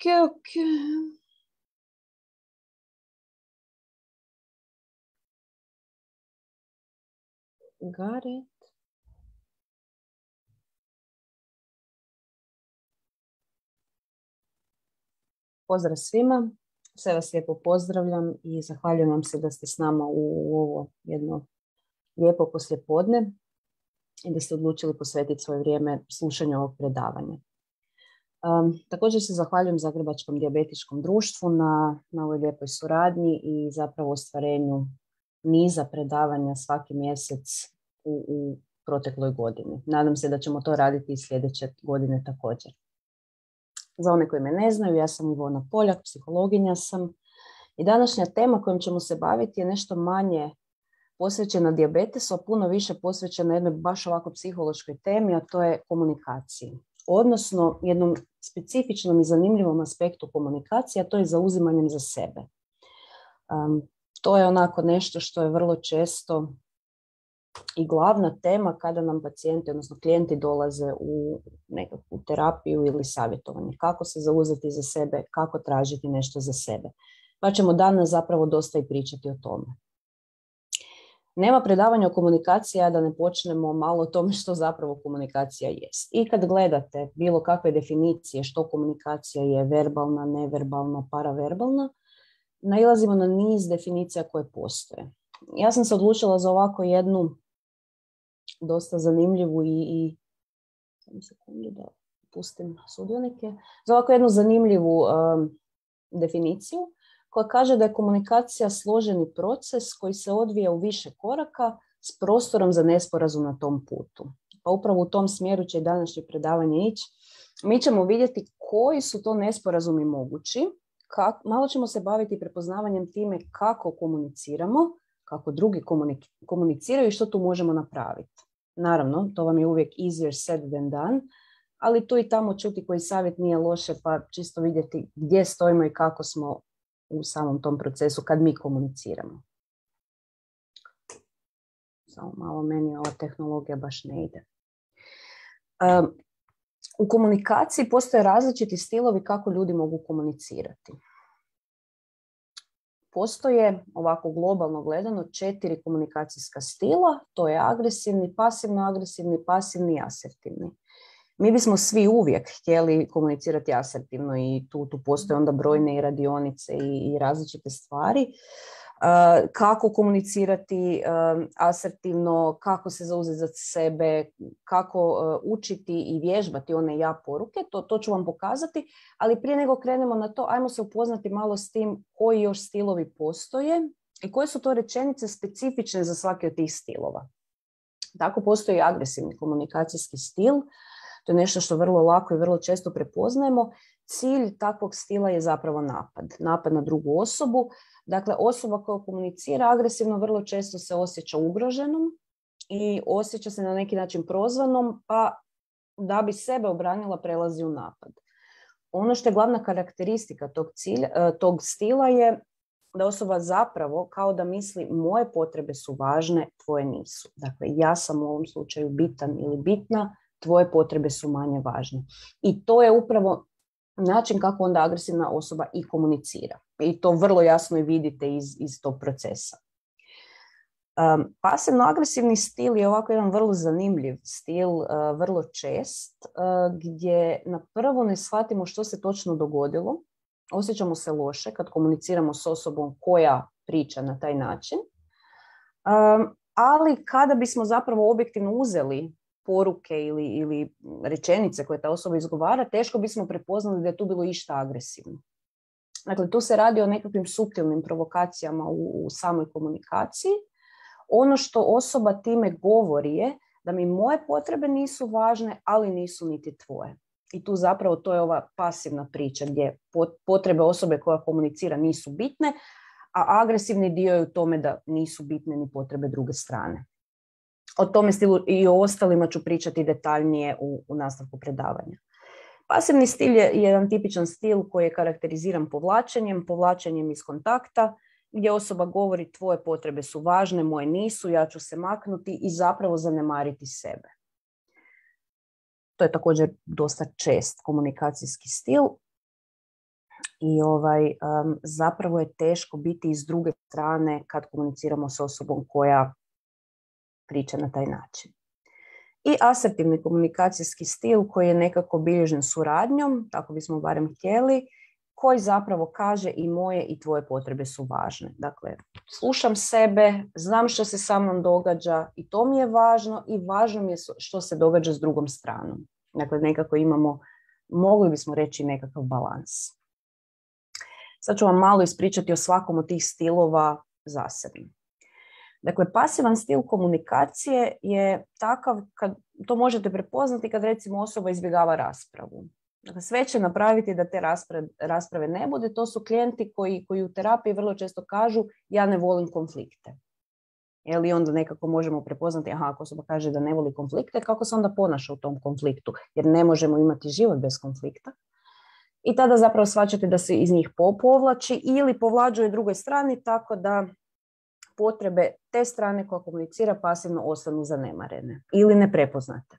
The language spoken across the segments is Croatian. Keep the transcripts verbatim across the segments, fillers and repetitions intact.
ok. Got it. Pozdrav svima. Sve vas lijepo pozdravljam i zahvaljujem vam se da ste s nama u ovo jedno lijepo poslijepodne i da ste odlučili posvetiti svoje vrijeme slušanju ovog predavanja. Um, također se zahvaljujem Zagrebačkom dijabetičkom društvu na, na ovoj lijepoj suradnji i zapravo ostvarenju niza predavanja svaki mjesec u, u protekloj godini. Nadam se da ćemo to raditi i sljedeće godine također. Za one koji me ne znaju, ja sam Ivona Poljak, psihologinja sam i današnja tema kojom ćemo se baviti je nešto manje posvećena dijabetesu, a puno više posvećena jednoj baš ovako psihološkoj temi, a to je komunikaciji. Odnosno jednom specifičnom i zanimljivom aspektu komunikacije, a to je zauzimanjem za sebe. Um, to je onako nešto što je vrlo često i glavna tema kada nam pacijenti, odnosno klijenti dolaze u nekakvu terapiju ili savjetovanje. Kako se zauzeti za sebe, kako tražiti nešto za sebe. Pa ćemo danas zapravo dosta i pričati o tome. Nema predavanja o komunikaciji, a da ne počnemo malo o tome što zapravo komunikacija jest. I kad gledate bilo kakve definicije što komunikacija je, verbalna, neverbalna, paraverbalna, nailazimo na niz definicija koje postoje. Ja sam se odlučila za ovako jednu dosta zanimljivu i, i samo sekundu da pustim sudionike, za ovako jednu zanimljivu um, definiciju koja kaže da je komunikacija složeni proces koji se odvija u više koraka s prostorom za nesporazum na tom putu. Pa upravo u tom smjeru će i današnje predavanje ići. Mi ćemo vidjeti koji su to nesporazumi mogući, kak, malo ćemo se baviti prepoznavanjem time kako komuniciramo, kako drugi komuniciraju i što tu možemo napraviti. Naravno, to vam je uvijek easier said than done, ali tu i tamo čuti koji savjet nije loše, pa čisto vidjeti gdje stojimo i kako smo u samom tom procesu kad mi komuniciramo. Samo malo, meni ova tehnologija baš ne ide. Um, u komunikaciji postoje različiti stilovi kako ljudi mogu komunicirati. Postoje, ovako globalno gledano, četiri komunikacijska stila, to je agresivni, pasivno-agresivni, pasivni i asertivni. Mi bismo svi uvijek htjeli komunicirati asertivno i tu, tu postoje onda brojne i radionice i, i različite stvari. Uh, kako komunicirati uh, asertivno, kako se zauzeti za sebe, kako uh, učiti i vježbati one ja poruke, to, to ću vam pokazati, ali prije nego krenemo na to, ajmo se upoznati malo s tim koji još stilovi postoje i koje su to rečenice specifične za svaki od tih stilova. Tako postoji agresivni komunikacijski stil, to je nešto što vrlo lako i vrlo često prepoznajemo. Cilj takvog stila je zapravo napad, napad na drugu osobu. Dakle, osoba koja komunicira agresivno vrlo često se osjeća ugroženom i osjeća se na neki način prozvanom, pa da bi sebe obranila prelazi u napad. Ono što je glavna karakteristika tog, cilja, tog stila je da osoba zapravo kao da misli moje potrebe su važne, tvoje nisu. Dakle, ja sam u ovom slučaju bitan ili bitna, tvoje potrebe su manje važne. I to je upravo način kako onda agresivna osoba i komunicira. I to vrlo jasno i vidite iz, iz tog procesa. Um, pasivno-agresivni stil je ovako jedan vrlo zanimljiv stil, uh, vrlo čest, uh, gdje na prvo ne shvatimo što se točno dogodilo. Osjećamo se loše kad komuniciramo s osobom koja priča na taj način. Um, ali kada bismo zapravo objektivno uzeli poruke ili, ili rečenice koje ta osoba izgovara, teško bismo prepoznali da je tu bilo išta agresivno. Dakle, tu se radi o nekakvim suptilnim provokacijama u, u samoj komunikaciji. Ono što osoba time govori je da mi moje potrebe nisu važne, ali nisu niti tvoje. I tu zapravo to je ova pasivna priča gdje potrebe osobe koja komunicira nisu bitne, a agresivni dio je u tome da nisu bitne ni potrebe druge strane. O tome stilu i o ostalima ću pričati detaljnije u, u nastavku predavanja. Pasivni stil je jedan tipičan stil koji je karakteriziran povlačenjem, povlačenjem iz kontakta, gdje osoba govori tvoje potrebe su važne, moje nisu, ja ću se maknuti i zapravo zanemariti sebe. To je također dosta čest komunikacijski stil. I ovaj, um, zapravo je teško biti iz druge strane kad komuniciramo s osobom koja priča na taj način. I asertivni komunikacijski stil koji je nekako bilježen suradnjom, tako bismo barem htjeli, koji zapravo kaže i moje i tvoje potrebe su važne. Dakle, slušam sebe, znam što se sa mnom događa i to mi je važno i važno mi je što se događa s drugom stranom. Dakle, nekako imamo, mogli bismo reći, nekakav balans. Sad ću vam malo ispričati o svakom od tih stilova zasebno. Dakle, pasivan stil komunikacije je takav, kad, to možete prepoznati kad recimo osoba izbjegava raspravu. Dakle, sve će napraviti da te rasprave, rasprave ne bude. To su klijenti koji, koji u terapiji vrlo često kažu ja ne volim konflikte. Ili onda nekako možemo prepoznati, aha, ako osoba kaže da ne voli konflikte, kako se onda ponaša u tom konfliktu? Jer ne možemo imati život bez konflikta. I tada zapravo shvaćate da se iz njih povlači ili povlađuje drugoj strani tako da potrebe te strane koja komunicira pasivno ostanu zanemarene ili neprepoznate.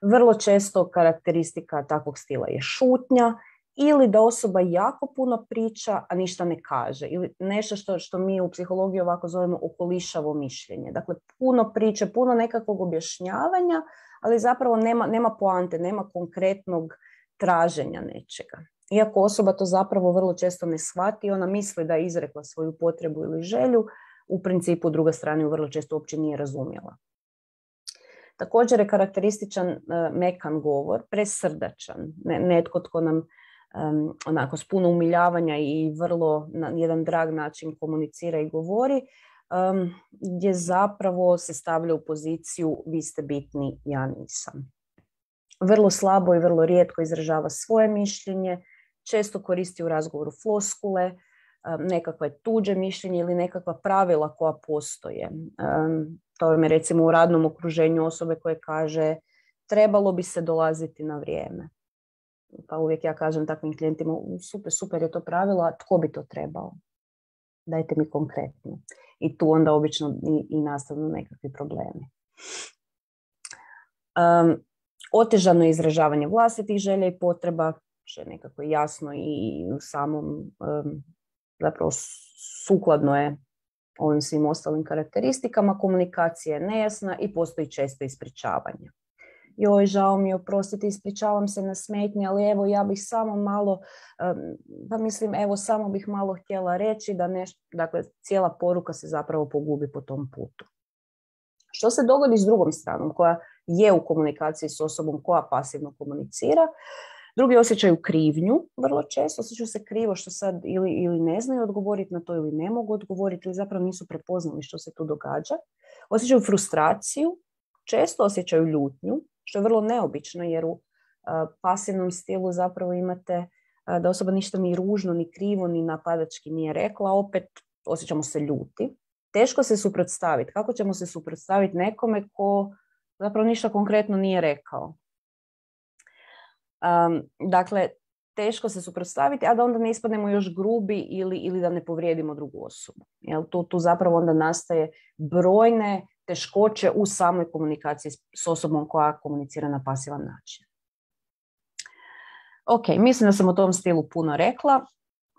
Vrlo često karakteristika takvog stila je šutnja ili da osoba jako puno priča, a ništa ne kaže. Ili nešto što, što mi u psihologiji ovako zovemo okolišavo mišljenje. Dakle, puno priče, puno nekakvog objašnjavanja, ali zapravo nema, nema poante, nema konkretnog traženja nečega. Iako osoba to zapravo vrlo često ne shvati, ona misli da je izrekla svoju potrebu ili želju, u principu druga strana ju vrlo često uopće nije razumjela. Također je karakterističan uh, mekan govor, presrdačan, ne, netko tko nam um, onako s puno umiljavanja i vrlo na jedan drag način komunicira i govori, um, gdje zapravo se stavlja u poziciju vi ste bitni, ja nisam. Vrlo slabo i vrlo rijetko izražava svoje mišljenje, često koristi u razgovoru floskule, nekakve tuđe mišljenje ili nekakva pravila koja postoje. Um, to je recimo u radnom okruženju osobe koje kaže trebalo bi se dolaziti na vrijeme. Pa uvijek ja kažem takvim klijentima super, super je to pravilo, a tko bi to trebao? Dajte mi konkretno. I tu onda obično i, i nastavno nekakvi problemi. Um, otežano je izražavanje vlastitih želja i potreba, što je nekako jasno i u samom um, zapravo sukladno je ovim svim ostalim karakteristikama. Komunikacija je nejasna i postoji često ispričavanje. Joj, žao mi je, oprostite, ispričavam se na smetnji, ali evo ja bih samo malo, pa mislim, evo samo bih malo htjela reći da nešto, dakle cijela poruka se zapravo pogubi po tom putu. Što se dogodi s drugom stranom koja je u komunikaciji s osobom koja pasivno komunicira? Drugi osjećaju krivnju, vrlo često osjećaju se krivo što sad ili, ili ne znaju odgovoriti na to ili ne mogu odgovoriti ili zapravo nisu prepoznali što se tu događa. Osjećaju frustraciju, često osjećaju ljutnju, što je vrlo neobično jer u uh, pasivnom stilu zapravo imate uh, da osoba ništa ni ružno, ni krivo, ni napadački nije rekla, opet osjećamo se ljuti. Teško se suprotstaviti. Kako ćemo se suprotstaviti nekome ko zapravo ništa konkretno nije rekao? Um, dakle, teško se suprotstaviti, a da onda ne ispadnemo još grubi ili, ili da ne povrijedimo drugu osobu. Jel, tu, tu zapravo onda nastaje brojne teškoće u samoj komunikaciji s osobom koja komunicira na pasivan način. Ok, mislim da sam o tom stilu puno rekla.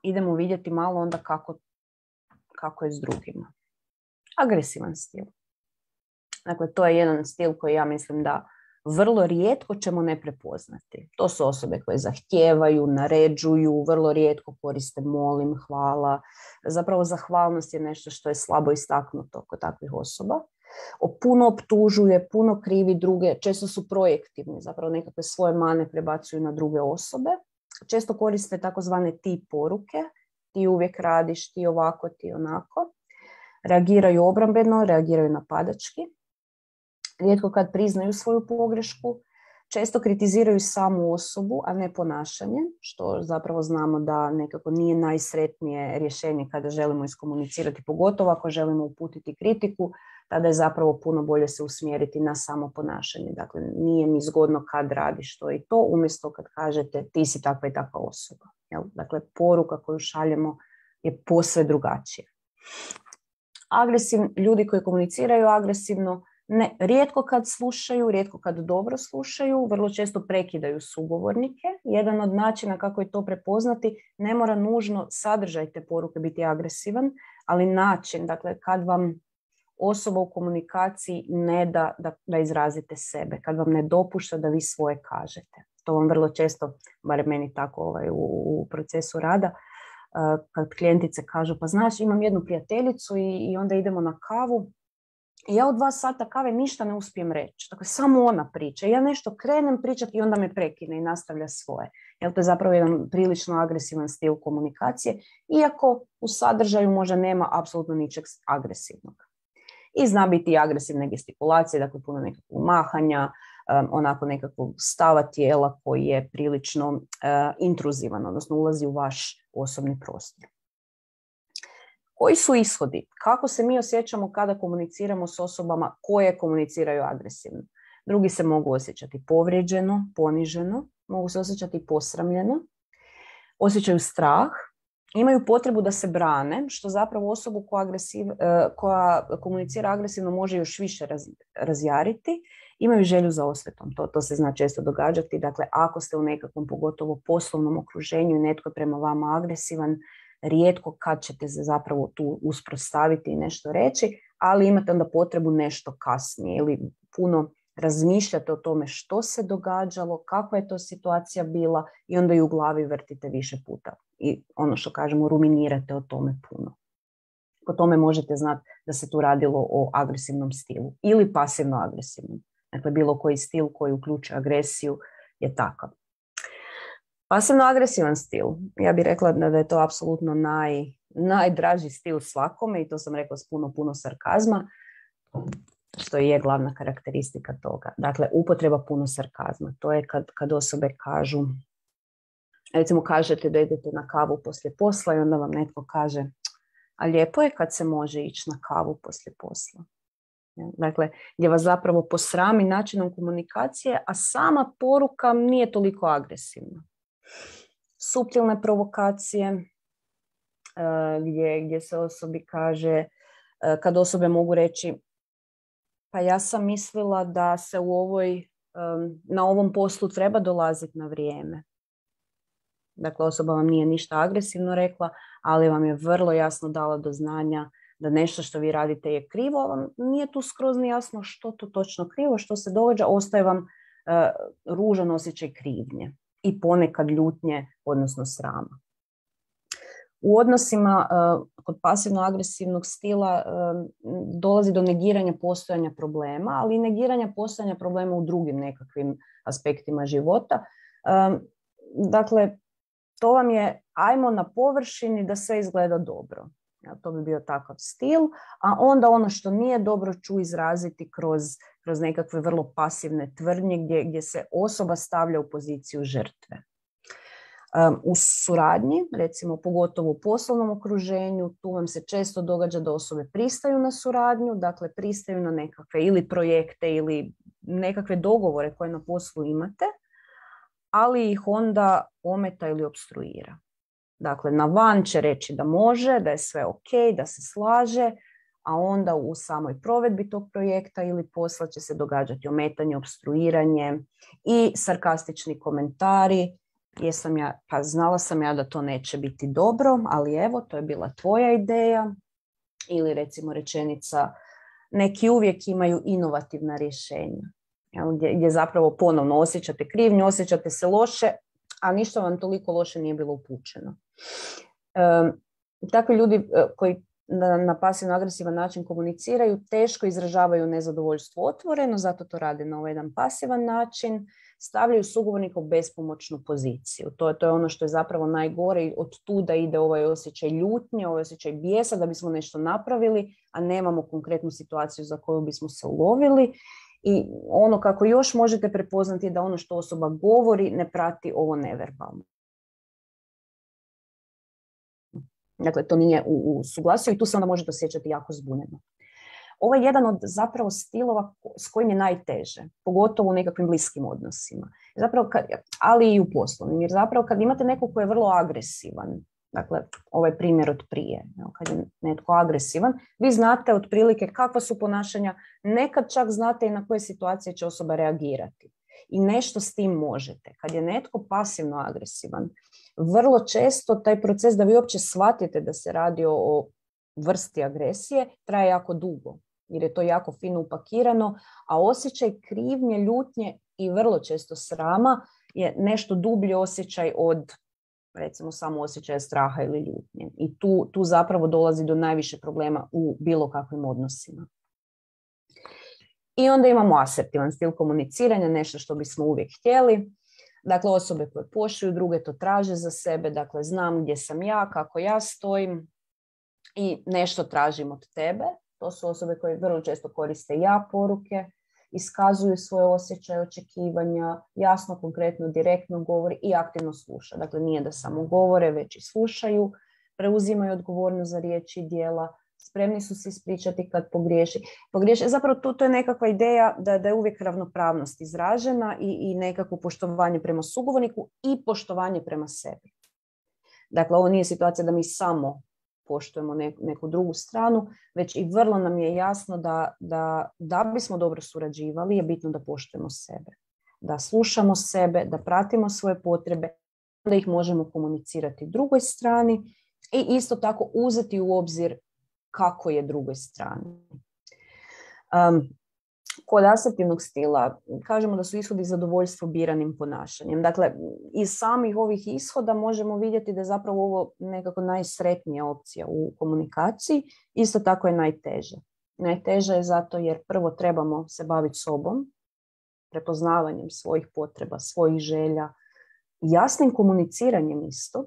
Idemo vidjeti malo onda kako, kako je s drugima. Agresivan stil. Dakle, to je jedan stil koji ja mislim da vrlo rijetko ćemo ne prepoznati. To su osobe koje zahtijevaju, naređuju, vrlo rijetko koriste molim, hvala. Zapravo zahvalnost je nešto što je slabo istaknuto kod takvih osoba. Puno optužuje, puno krivi druge, često su projektivni, zapravo nekakve svoje mane prebacuju na druge osobe. Često koriste takozvane ti poruke, ti uvijek radiš, ti ovako, ti onako. Reagiraju obrambeno, reagiraju napadački. Rijetko kad priznaju svoju pogrešku, često kritiziraju samu osobu, a ne ponašanje, što zapravo znamo da nekako nije najsretnije rješenje kada želimo iskomunicirati, pogotovo ako želimo uputiti kritiku, tada je zapravo puno bolje se usmjeriti na samo ponašanje. Dakle, nije mi zgodno kad radiš to i to, umjesto kad kažete ti si takva i takva osoba. Jel? Dakle, poruka koju šaljemo je posve drugačija. Agresivni ljudi koji komuniciraju agresivno Ne, rijetko kad slušaju, rijetko kad dobro slušaju, vrlo često prekidaju sugovornike. Jedan od načina kako je to prepoznati, ne mora nužno sadržaj te poruke biti agresivan, ali način, dakle kad vam osoba u komunikaciji ne da, da da izrazite sebe, kad vam ne dopušta da vi svoje kažete. To vam vrlo često, barem meni tako ovaj, u, u procesu rada, kad klijentice kažu, pa znaš, imam jednu prijateljicu i, i onda idemo na kavu i ja u dva sata kave ništa ne uspijem reći. Dakle, samo ona priča. Ja nešto krenem pričati i onda me prekine i nastavlja svoje. Jer to je zapravo jedan prilično agresivan stil komunikacije, iako u sadržaju možda nema apsolutno ničeg agresivnog. I zna biti agresivne gestikulacije, dakle puno nekakvog mahanja, um, onako nekakvog stava tijela koji je prilično uh, intruzivan, odnosno ulazi u vaš osobni prostor. Koji su ishodi? Kako se mi osjećamo kada komuniciramo s osobama koje komuniciraju agresivno? Drugi se mogu osjećati povrijeđeno, poniženo, mogu se osjećati posramljeno, osjećaju strah, imaju potrebu da se brane, što zapravo osobu koja, agresiv, koja komunicira agresivno može još više raz, razjariti, imaju želju za osvetom. To, to se zna često događati. Dakle, ako ste u nekakvom pogotovo poslovnom okruženju i netko je prema vama agresivan, rijetko kad ćete se zapravo tu usprostaviti i nešto reći, ali imate onda potrebu nešto kasnije ili puno razmišljate o tome što se događalo, kakva je to situacija bila i onda ju u glavi vrtite više puta. I ono što kažemo, ruminirate o tome puno. Po tome možete znati da se tu radilo o agresivnom stilu ili pasivno-agresivnom. Dakle, bilo koji stil koji uključuje agresiju je takav. Pasivno-agresivan stil, ja bih rekla da je to apsolutno naj, najdraži stil svakome i to sam rekla s puno, puno sarkazma, što je glavna karakteristika toga. Dakle, upotreba puno sarkazma. To je kad, kad osobe kažu, recimo kažete da idete na kavu poslije posla i onda vam netko kaže, a lijepo je kad se može ići na kavu poslije posla. Dakle, gdje vas zapravo posrami načinom komunikacije, a sama poruka nije toliko agresivna. Suptilne provokacije, gdje, gdje se osobi kaže, kad osobe mogu reći, pa ja sam mislila da se u ovoj, na ovom poslu treba dolaziti na vrijeme. Dakle, osoba vam nije ništa agresivno rekla, ali vam je vrlo jasno dala do znanja da nešto što vi radite je krivo, vam nije tu skroz ni jasno što to točno krivo, što se događa, ostaje vam uh, ružan osjećaj krivnje i ponekad ljutnje, odnosno srama. U odnosima uh, kod pasivno-agresivnog stila uh, dolazi do negiranja postojanja problema, ali i negiranja postojanja problema u drugim nekakvim aspektima života. Um, dakle, to vam je ajmo na površini da sve izgleda dobro. Ja, to bi bio takav stil, a onda ono što nije dobro ću izraziti kroz, kroz nekakve vrlo pasivne tvrdnje gdje, gdje se osoba stavlja u poziciju žrtve. Um, u suradnji, recimo pogotovo u poslovnom okruženju, tu vam se često događa da osobe pristaju na suradnju, dakle pristaju na nekakve ili projekte ili nekakve dogovore koje na poslu imate, ali ih onda ometa ili opstruira. Dakle, na van će reći da može, da je sve ok, da se slaže, a onda u samoj provedbi tog projekta ili posla će se događati ometanje, opstruiranje i sarkastični komentari. Jesam ja, pa znala sam ja da to neće biti dobro, ali evo, to je bila tvoja ideja. Ili recimo rečenica, neki uvijek imaju inovativna rješenja. Gdje, gdje zapravo ponovno osjećate krivnju, osjećate se loše, a ništa vam toliko loše nije bilo upućeno. E, takvi ljudi koji na, na pasivno-agresivan način komuniciraju, teško izražavaju nezadovoljstvo otvoreno, zato to rade na ovaj jedan pasivan način, stavljaju sugovornika u bespomoćnu poziciju. To je, to je ono što je zapravo najgore i od tuda ide ovaj osjećaj ljutnje, ovaj osjećaj bijesa da bismo nešto napravili, a nemamo konkretnu situaciju za koju bismo se ulovili. I ono kako još možete prepoznati je da ono što osoba govori ne prati ovo neverbalno. Dakle, to nije u, u suglasju i tu se onda možete osjećati jako zbunjeno. Ovo je jedan od zapravo stilova s kojim je najteže, pogotovo u nekakvim bliskim odnosima. Zapravo kad, ali i u poslovnim, jer zapravo kad imate nekog koji je vrlo agresivan, Dakle, ovaj primjer od prije. Kad je netko agresivan, vi znate otprilike kakva su ponašanja, nekad čak znate i na koje situacije će osoba reagirati. I nešto s tim možete. Kad je netko pasivno agresivan, vrlo često taj proces da vi uopće shvatite da se radi o, o vrsti agresije traje jako dugo. Jer je to jako fino upakirano, a osjećaj krivnje, ljutnje i vrlo često srama je nešto dublji osjećaj od, recimo, samo osjećaja straha ili ljutnje. I tu, tu zapravo dolazi do najviše problema u bilo kakvim odnosima. I onda imamo asertivan stil komuniciranja, nešto što bismo uvijek htjeli. Dakle, osobe koje poštuju druge to traže za sebe, dakle, znam gdje sam ja, kako ja stojim i nešto tražim od tebe. To su osobe koje vrlo često koriste ja poruke, iskazuju svoje osjećaje, očekivanja, jasno, konkretno, direktno govori i aktivno sluša. Dakle, nije da samo govore, već i slušaju, preuzimaju odgovornost za riječi i djela, spremni su se ispričati kad pogriješi. pogriješi. Zapravo to, to je nekakva ideja da, da je uvijek ravnopravnost izražena i, i nekakvo poštovanje prema sugovorniku i poštovanje prema sebi. Dakle, ovo nije situacija da mi samo poštujemo neku, neku drugu stranu, već i vrlo nam je jasno da, da, da bismo dobro surađivali je bitno da poštujemo sebe. Da slušamo sebe, da pratimo svoje potrebe, da ih možemo komunicirati drugoj strani i isto tako uzeti u obzir kako je drugoj strani. Um, kod asertivnog stila kažemo da su ishodi zadovoljstvo biranim ponašanjem. Dakle, iz samih ovih ishoda možemo vidjeti da je zapravo ovo nekako najsretnija opcija u komunikaciji. Isto tako je najteže. Najteže je zato jer prvo trebamo se baviti sobom, prepoznavanjem svojih potreba, svojih želja, jasnim komuniciranjem istog.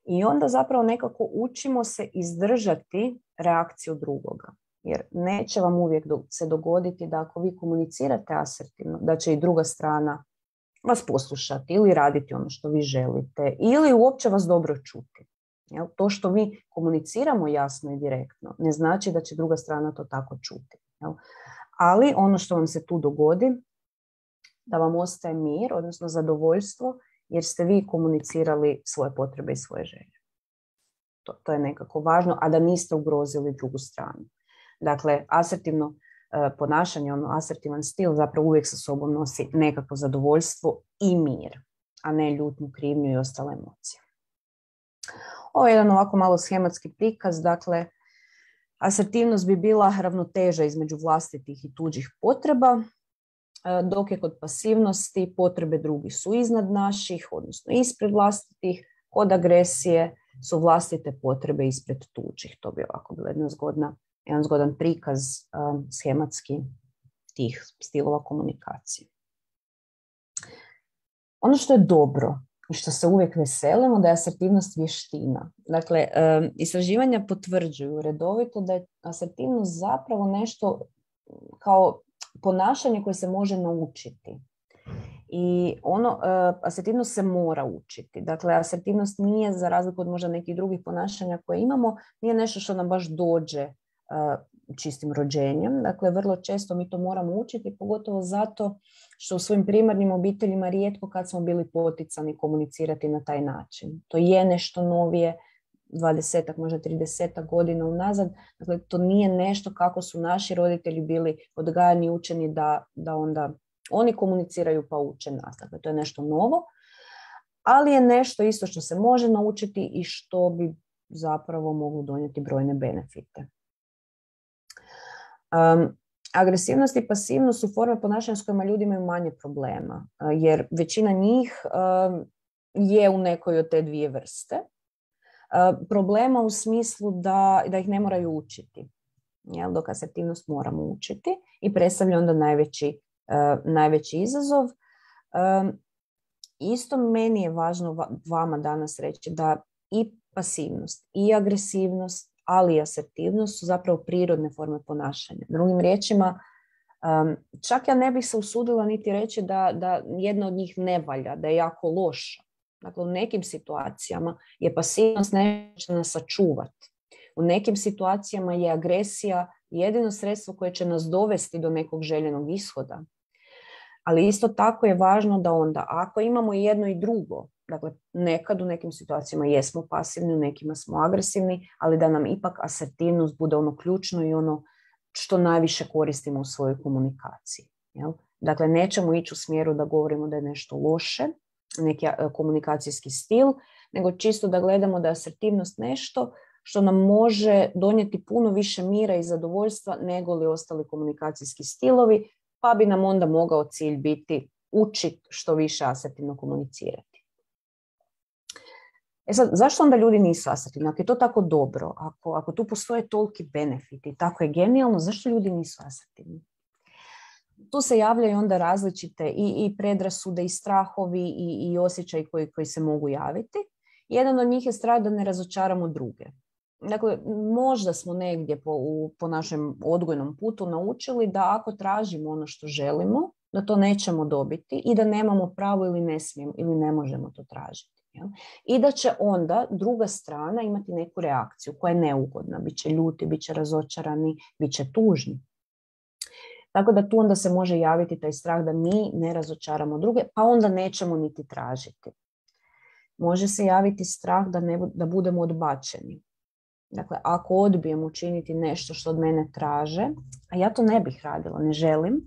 I onda zapravo nekako učimo se izdržati reakciju drugoga. Jer neće vam uvijek se dogoditi da ako vi komunicirate asertivno, da će i druga strana vas poslušati ili raditi ono što vi želite ili uopće vas dobro čuti. Jel? To što mi komuniciramo jasno i direktno ne znači da će druga strana to tako čuti. Jel? Ali ono što vam se tu dogodi, da vam ostaje mir, odnosno zadovoljstvo, jer ste vi komunicirali svoje potrebe i svoje želje. To, to je nekako važno, a da niste ugrozili drugu stranu. Dakle, asertivno uh, ponašanje, ono asertivan stil zapravo uvijek sa sobom nosi nekako zadovoljstvo i mir, a ne ljutnju, krivnju i ostale emocije. Ovo je jedan ovako malo schematski prikaz. Dakle, asertivnost bi bila ravnoteža između vlastitih i tuđih potreba, dok je kod pasivnosti potrebe drugih su iznad naših, odnosno ispred vlastitih. Kod agresije su vlastite potrebe ispred tuđih. To bi ovako bila jedna zgodna, jedan zgodan prikaz um, schematski tih stilova komunikacije. Ono što je dobro i što se uvijek veselimo da je asertivnost vještina. Dakle, um, istraživanja potvrđuju redovito da je asertivnost zapravo nešto kao ponašanje koje se može naučiti. I ono, uh, asertivnost se mora učiti. Dakle, asertivnost nije, za razliku od možda nekih drugih ponašanja koje imamo, nije nešto što nam baš dođe uh, čistim rođenjem. Dakle, vrlo često mi to moramo učiti, pogotovo zato što u svojim primarnim obiteljima rijetko kad smo bili poticani komunicirati na taj način. To je nešto novije, dvadesetak, možda tridesetak godina unazad. Dakle, to nije nešto kako su naši roditelji bili odgajani i učeni da, da onda oni komuniciraju pa uče nas. Dakle, to je nešto novo, ali je nešto isto što se može naučiti i što bi zapravo moglo donijeti brojne benefite. Um, agresivnost i pasivnost su forme ponašanja s kojima ljudi imaju manje problema, jer većina njih um, je u nekoj od te dvije vrste. Uh, problema u smislu da, da ih ne moraju učiti, jel? Dok asertivnost moramo učiti i predstavlja onda najveći, uh, najveći izazov. Um, isto meni je važno vama danas reći da i pasivnost i agresivnost, ali i asertivnost su zapravo prirodne forme ponašanja. Drugim riječima, um, čak ja ne bih se usudila niti reći da, da jedna od njih ne valja, da je jako loša. Dakle, u nekim situacijama je pasivnost nešto nas sačuvati. U nekim situacijama je agresija jedino sredstvo koje će nas dovesti do nekog željenog ishoda. Ali isto tako je važno da onda, ako imamo i jedno i drugo, Dakle, nekad u nekim situacijama jesmo pasivni, u nekima smo agresivni, ali da nam ipak asertivnost bude ono ključno i ono što najviše koristimo u svojoj komunikaciji. Jel? Dakle, nećemo ići u smjeru da govorimo da je nešto loše, neki komunikacijski stil, nego čisto da gledamo da je asertivnost nešto što nam može donijeti puno više mira i zadovoljstva nego li ostali komunikacijski stilovi, pa bi nam onda mogao cilj biti učiti što više asertivno komunicirati. E sad, zašto onda ljudi nisu asertivni? Ako je to tako dobro, ako, ako tu postoje toliki benefiti, tako je genijalno, zašto ljudi nisu asertivni? Tu se javljaju onda različite i, i predrasude, i strahovi, i, i osjećaji koji, koji se mogu javiti. Jedan od njih je strah da ne razočaramo druge. Dakle, možda smo negdje po, u, po našem odgojnom putu naučili da ako tražimo ono što želimo, da to nećemo dobiti i da nemamo pravo ili ne smijemo ili ne možemo to tražiti. Jel? I da će onda druga strana imati neku reakciju koja je neugodna. Biće ljuti, biće razočarani, biće tužni. Tako da tu onda se može javiti taj strah da mi ne razočaramo druge, pa onda nećemo niti tražiti. Može se javiti strah da, ne, da budemo odbačeni. Dakle, ako odbijem učiniti nešto što od mene traže, a ja to ne bih radila, ne želim,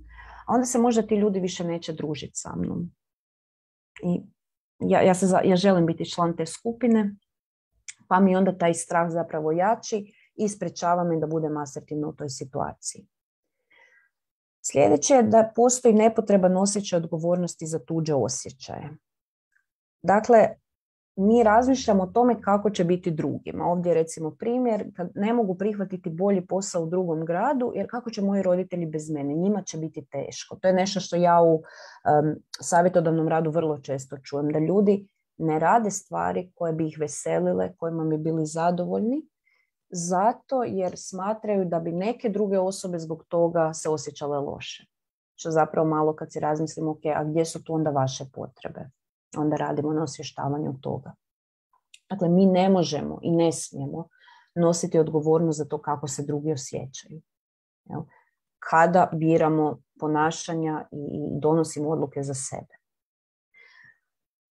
a onda se možda ti ljudi više neće družiti sa mnom. I ja, ja, se, ja želim biti član te skupine, pa mi onda taj strah zapravo jači i sprečava me da budem asertivna u toj situaciji. Sljedeće je da postoji nepotreban osjećaj odgovornosti za tuđe osjećaje. Dakle, mi razmišljamo o tome kako će biti drugima. Ovdje je recimo primjer, kad ne mogu prihvatiti bolji posao u drugom gradu, jer kako će moji roditelji bez mene? Njima će biti teško. To je nešto što ja u um, savjetodavnom radu vrlo često čujem, da ljudi ne rade stvari koje bi ih veselile, kojima bi bili zadovoljni, zato jer smatraju da bi neke druge osobe zbog toga se osjećale loše. Što zapravo malo kad si razmislimo, ok, a gdje su tu onda vaše potrebe? Onda radimo na osvještavanju toga. Dakle, mi ne možemo i ne smijemo nositi odgovornost za to kako se drugi osjećaju. Jel? Kada biramo ponašanja i donosimo odluke za sebe.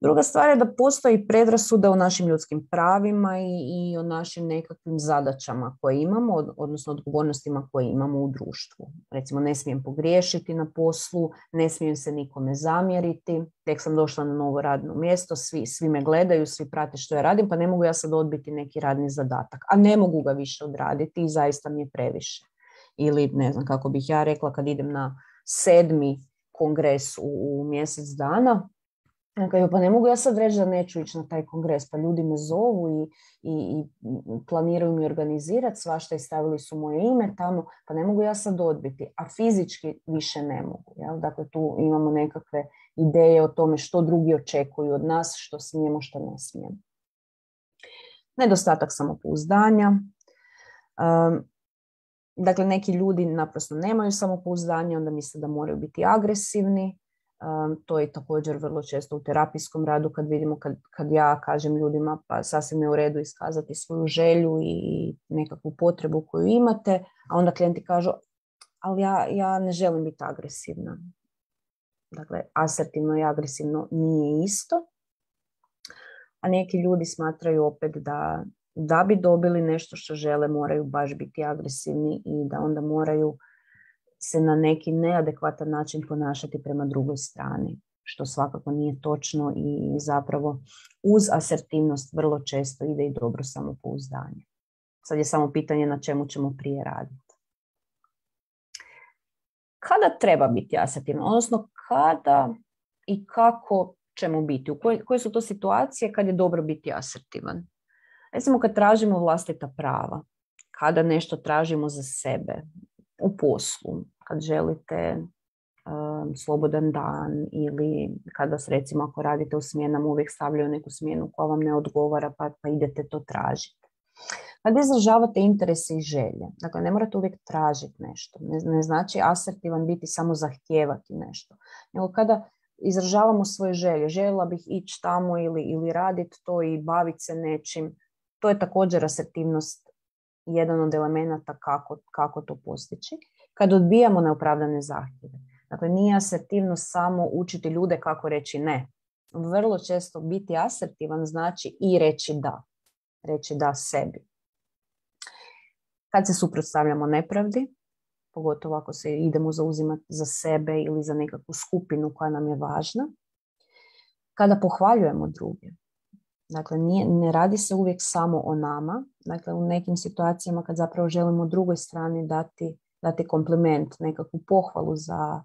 Druga stvar je da postoji predrasuda o našim ljudskim pravima i, i o našim nekakvim zadaćama koje imamo, odnosno odgovornostima koje imamo u društvu. Recimo, ne smijem pogriješiti na poslu, ne smijem se nikome zamjeriti, tek sam došla na novo radno mjesto, svi, svi me gledaju, svi prate što ja radim, pa ne mogu ja sad odbiti neki radni zadatak, a ne mogu ga više odraditi i zaista mi je previše. Ili, ne znam kako bih ja rekla, kad idem na sedmi kongres u, u mjesec dana, pa ne mogu ja sad reći da neću ići na taj kongres, pa ljudi me zovu i, i, i planiraju mi organizirati svašta i stavili su moje ime tamo, pa ne mogu ja sad odbiti, a fizički više ne mogu. Jel? Dakle, tu imamo nekakve ideje o tome što drugi očekuju od nas, što smijemo, što ne smijemo. Nedostatak samopouzdanja. Um, dakle, neki ljudi naprosto nemaju samopouzdanje, onda misle da moraju biti agresivni. Um, to je također vrlo često u terapijskom radu kad vidimo, kad, kad ja kažem ljudima pa sasvim je u redu iskazati svoju želju i nekakvu potrebu koju imate, a onda klijenti kažu ali ja, ja ne želim biti agresivna. Dakle, asertivno i agresivno nije isto, a neki ljudi smatraju opet da, da bi dobili nešto što žele moraju baš biti agresivni i da onda moraju se na neki neadekvatan način ponašati prema drugoj strani, što svakako nije točno i zapravo uz asertivnost vrlo često ide i dobro samopouzdanje. Sad je samo pitanje na čemu ćemo prije raditi. Kada treba biti asertivno, odnosno kada i kako ćemo biti, u koje, koje su to situacije kad je dobro biti asertivan? Recimo kad tražimo vlastita prava, kada nešto tražimo za sebe, u poslu, kad želite um, slobodan dan ili kada se recimo ako radite u smjenama uvijek stavljaju neku smjenu koja vam ne odgovara pa, pa idete to tražiti. Kad izražavate interese i želje, dakle ne morate uvijek tražiti nešto, ne, ne znači asertivan biti samo zahtijevati nešto, nego kada izražavamo svoje želje, željela bih ići tamo ili, ili raditi to i baviti se nečim, to je također asertivnost, jedan od elemenata kako, kako to postići. Kad odbijamo neopravdane zahtjeve. Dakle, nije asertivno samo učiti ljude kako reći ne, vrlo često biti asertivan znači i reći da. Reći da sebi. Kad se suprotstavljamo nepravdi, pogotovo ako se idemo zauzimati za sebe ili za nekakvu skupinu koja nam je važna, kada pohvaljujemo druge. Dakle, nije, ne radi se uvijek samo o nama. Dakle, u nekim situacijama kad zapravo želimo drugoj strani dati, dati kompliment, nekakvu pohvalu za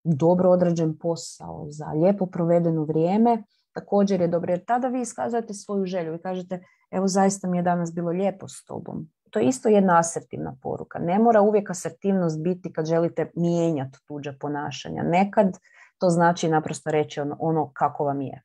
dobro odrađen posao, za lijepo provedeno vrijeme, također je dobro, jer tada vi iskazujete svoju želju i kažete, evo zaista mi je danas bilo lijepo s tobom. To je isto jedna asertivna poruka. Ne mora uvijek asertivnost biti kad želite mijenjati tuđa ponašanja. Nekad to znači naprosto reći ono, ono kako vam je.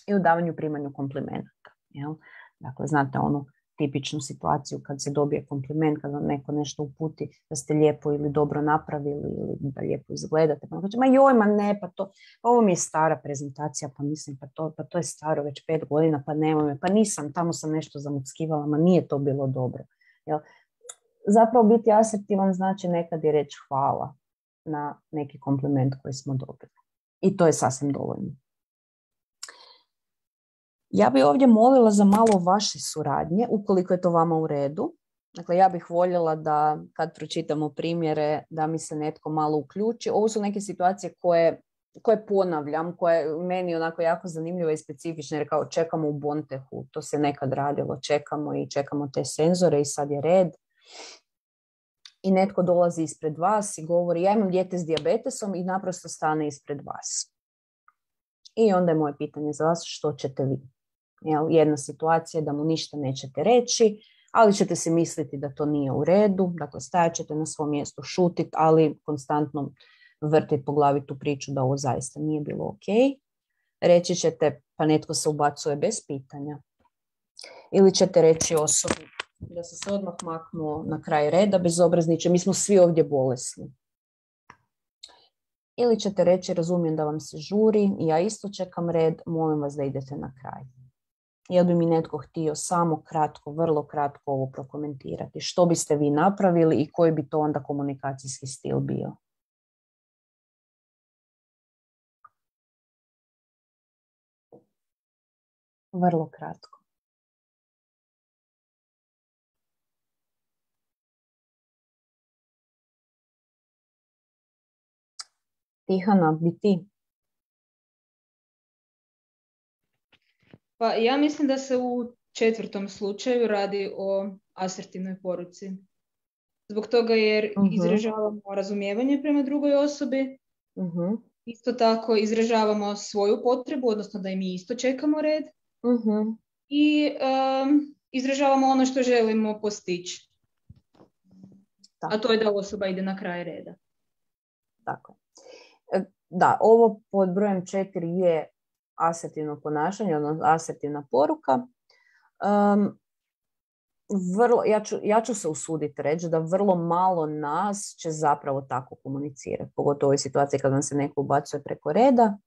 I u davanju primanju komplimenata. Jel? Dakle, znate onu tipičnu situaciju kad se dobije kompliment, kad vam neko nešto uputi da ste lijepo ili dobro napravili ili da lijepo izgledate. Pa kaže, ma joj, ma ne, pa to, ovo mi je stara prezentacija, pa mislim, pa to, pa to je staro već pet godina, pa nemoj me, pa nisam, tamo sam nešto zamuckivala, ma nije to bilo dobro. Jel? Zapravo biti asertivan znači nekad i reći hvala na neki kompliment koji smo dobili. I to je sasvim dovoljno. Ja bih ovdje molila za malo vaše suradnje, ukoliko je to vama u redu. Dakle, ja bih voljela da kad pročitamo primjere, da mi se netko malo uključi. Ovo su neke situacije koje, koje ponavljam, koje meni onako jako zanimljivo i specifične, jer kao čekamo u Bontehu, to se nekad radilo, čekamo i čekamo te senzore i sad je red. I netko dolazi ispred vas i govori, ja imam dijete s dijabetesom i naprosto stane ispred vas. I onda je moje pitanje za vas, što ćete vi? Jel, jedna situacija da mu ništa nećete reći, ali ćete se misliti da to nije u redu, dakle stajat ćete na svom mjestu, šutit, ali konstantno vrtiti po glavi tu priču da ovo zaista nije bilo ok. Reći ćete, pa netko se ubacuje bez pitanja. Ili ćete reći osobi da se se odmah maknuo na kraj reda bezobrazniče, mi smo svi ovdje bolesni. Ili ćete reći, razumijem da vam se žuri, ja isto čekam red, molim vas da idete na kraj. Jel bi mi netko htio samo kratko, vrlo kratko ovo prokomentirati? Što biste vi napravili i koji bi to onda komunikacijski stil bio? Vrlo kratko. Tihana, bi ti? Pa ja mislim da se u četvrtom slučaju radi o asertivnoj poruci. Zbog toga jer uh-huh. izražavamo razumijevanje prema drugoj osobi, uh-huh. isto tako izražavamo svoju potrebu, odnosno da i mi isto čekamo red uh-huh. i um, izražavamo ono što želimo postići. Tako. A to je da osoba ide na kraj reda. Tako. Da, ovo pod brojem četiri je asertivno ponašanje, odnosno asertivna poruka. Um, vrlo, ja, ću, ja ću se usuditi reći da vrlo malo nas će zapravo tako komunicirati, pogotovo u ovoj situaciji kad vam se neko ubacuje preko reda.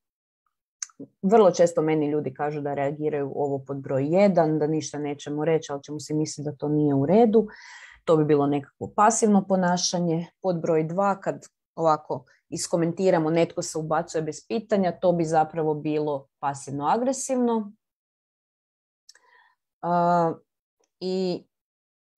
Vrlo često meni ljudi kažu da reagiraju ovo pod broj jedan, da ništa nećemo reći, ali ćemo si misliti da to nije u redu. To bi bilo nekakvo pasivno ponašanje. Pod broj dva, kad ovako iskomentiramo, netko se ubacuje bez pitanja, to bi zapravo bilo pasivno-agresivno. Uh, I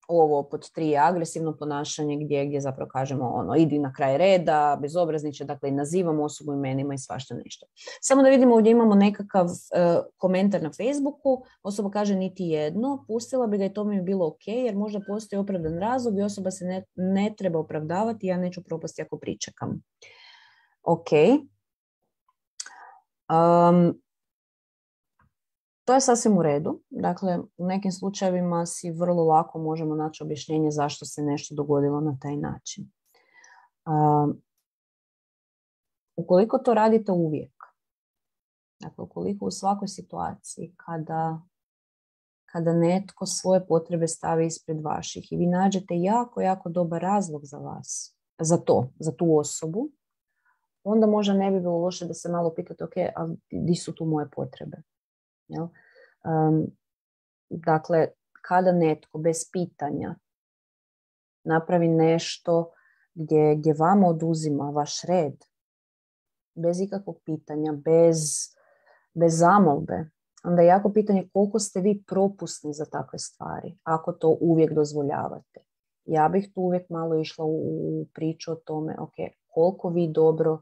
ovo pod tri je agresivno ponašanje gdje, gdje zapravo kažemo ono, idi na kraj reda, bezobrazniče, dakle i nazivamo osobu imenima i svašta nešto. Samo da vidimo, ovdje imamo nekakav uh, komentar na Facebooku, osoba kaže niti jedno, pustila bi ga i to mi je bilo ok, jer možda postoji opravdan razlog i osoba se ne, ne treba opravdavati, ja neću propasti ako pričekam. Ok. Um, To je sasvim u redu. Dakle, u nekim slučajevima si vrlo lako možemo naći objašnjenje zašto se nešto dogodilo na taj način. Uh, ukoliko to radite uvijek, dakle, ukoliko u svakoj situaciji kada, kada netko svoje potrebe stavi ispred vaših i vi nađete jako, jako dobar razlog za vas, za to, za tu osobu, onda možda ne bi bilo loše da se malo pitate, ok, ali di su tu moje potrebe? Jel? Um, dakle, kada netko bez pitanja napravi nešto gdje, gdje vama oduzima vaš red, bez ikakvog pitanja, bez bez zamolbe, onda je jako pitanje koliko ste vi propusni za takve stvari, ako to uvijek dozvoljavate. Ja bih tu uvijek malo išla u, u priču o tome, ok, koliko vi dobro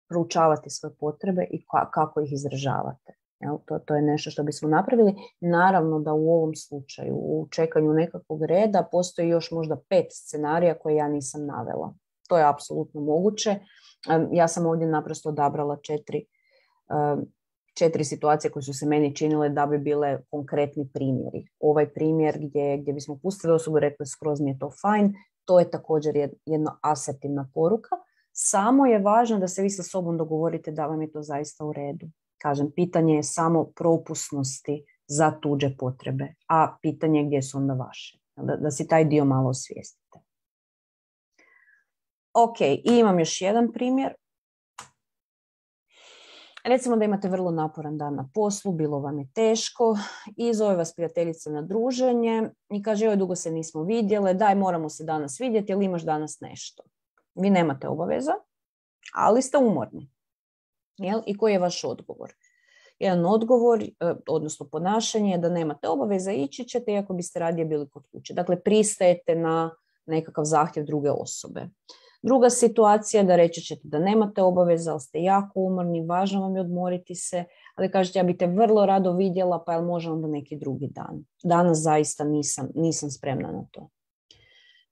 proučavate svoje potrebe i ka, kako ih izražavate. Jel? To, to je nešto što bismo napravili. Naravno da u ovom slučaju, u čekanju nekakvog reda, postoji još možda pet scenarija koje ja nisam navela. To je apsolutno moguće. Ja sam ovdje naprosto odabrala četiri, četiri situacije koje su se meni činile da bi bile konkretni primjeri. Ovaj primjer gdje, gdje bismo pustili osobu i rekli skroz mi je to fajn, to je također jedna asertivna poruka. Samo je važno da se vi sa sobom dogovorite da vam je to zaista u redu. Kažem, pitanje je samo propusnosti za tuđe potrebe, a pitanje je gdje su onda vaše. Da, da si taj dio malo osvijestite. Ok, i imam još jedan primjer. Recimo da imate vrlo naporan dan na poslu, bilo vam je teško i zove vas prijateljica na druženje i kaže joj dugo se nismo vidjele, daj moramo se danas vidjeti, jel imaš danas nešto? Vi nemate obaveza, ali ste umorni. Jel? I koji je vaš odgovor? Jedan odgovor, odnosno ponašanje je da nemate obaveza, ići ćete iako biste radije bili kod kuće. Dakle, pristajete na nekakav zahtjev druge osobe. Druga situacija je da reći ćete da nemate obaveza, ali ste jako umorni, važno vam je odmoriti se, ali kažete ja bi te vrlo rado vidjela, pa jel može onda neki drugi dan. Danas zaista nisam, nisam spremna na to.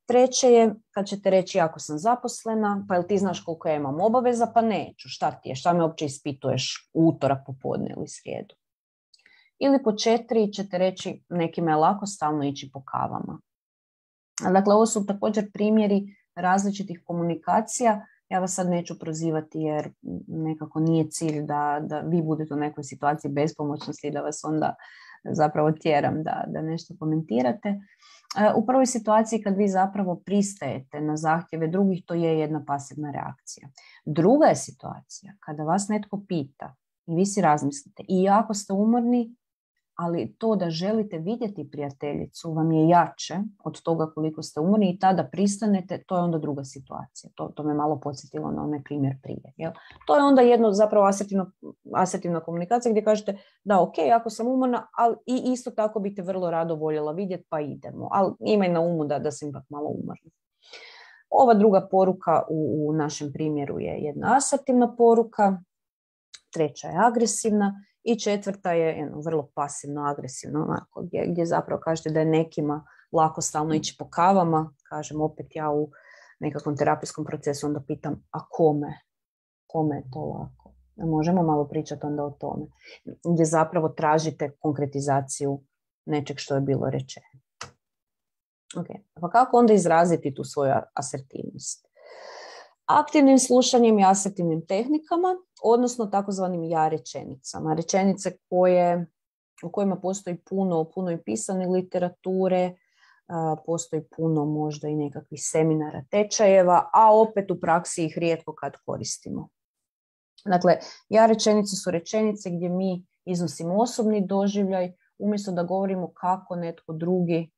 Treće je kad ćete reći jako sam zaposlena, pa jel ti znaš koliko ja imam obaveza, pa neću, šta ti je, šta me uopće ispituješ u utorak popodne ili srijedu. Ili po četiri ćete reći nekima je lako stalno ići po kavama. Dakle, ovo su također primjeri različitih komunikacija. Ja vas sad neću prozivati jer nekako nije cilj da, da vi budete u nekoj situaciji bespomoćnosti i da vas onda zapravo tjeram da, da nešto komentirate. U prvoj situaciji kad vi zapravo pristajete na zahtjeve drugih, to je jedna pasivna reakcija. Druga je situacija kada vas netko pita i vi si razmislite i jako ste umorni, ali to da želite vidjeti prijateljicu vam je jače od toga koliko ste umorni i tada pristanete, to je onda druga situacija. To, to me malo podsjetilo na onaj primjer prije. Jel? To je onda jedno zapravo asertivno, asertivna komunikacija gdje kažete da ok, ako sam umorna, ali i isto tako bi te vrlo rado voljela vidjeti pa idemo. Ali imaj na umu da, da sam ipak malo umorna. Ova druga poruka u, u našem primjeru je jedna asertivna poruka, treća je agresivna. I četvrta je jedno, vrlo pasivno, agresivno, onako, gdje, gdje zapravo kažete da je nekima lako stalno ići po kavama. Kažem, opet ja u nekakvom terapijskom procesu onda pitam, a kome? Kome je to lako? Možemo malo pričati onda o tome. Gdje zapravo tražite konkretizaciju nečeg što je bilo rečeno. Okay. Pa kako onda izraziti tu svoju asertivnost? Aktivnim slušanjem i asertivnim tehnikama, odnosno takozvanim ja rečenicama. Rečenice koje, u kojima postoji puno, puno i pisane literature, postoji puno možda i nekakvih seminara, tečajeva, a opet u praksi ih rijetko kad koristimo. Dakle, ja rečenice su rečenice gdje mi iznosimo osobni doživljaj, umjesto da govorimo kako netko drugi,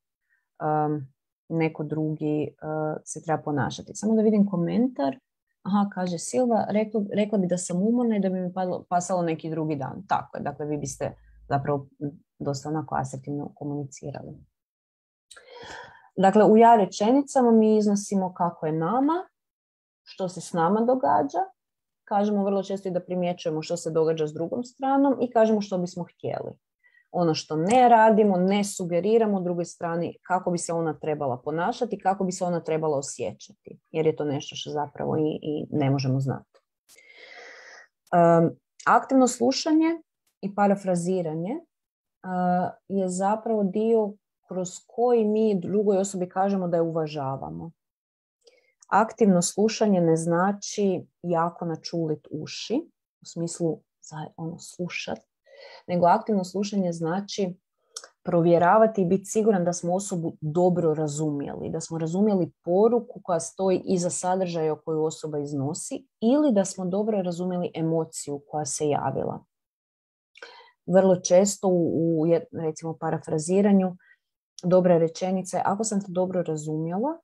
um, neko drugi uh, se treba ponašati. Samo da vidim komentar. Aha, kaže Silva, rekla, rekla bi da sam umorna i da bi mi padlo, pasalo neki drugi dan. Tako je, dakle vi biste zapravo dosta onako asertivno komunicirali. Dakle, u ja rečenicama mi iznosimo kako je nama, što se s nama događa, kažemo vrlo često i da primjećujemo što se događa s drugom stranom i kažemo što bismo htjeli. Ono što ne radimo, ne sugeriramo drugoj strani kako bi se ona trebala ponašati, kako bi se ona trebala osjećati, jer je to nešto što zapravo i, i ne možemo znati. Um, aktivno slušanje i parafraziranje uh, je zapravo dio kroz koji mi drugoj osobi kažemo da je uvažavamo. Aktivno slušanje ne znači jako načulit uši, u smislu ono, slušati, nego aktivno slušanje znači provjeravati i biti siguran da smo osobu dobro razumjeli, da smo razumjeli poruku koja stoji iza sadržaja koju osoba iznosi ili da smo dobro razumjeli emociju koja se javila. Vrlo često u, u recimo parafraziranju dobra rečenica je ako sam te dobro razumjela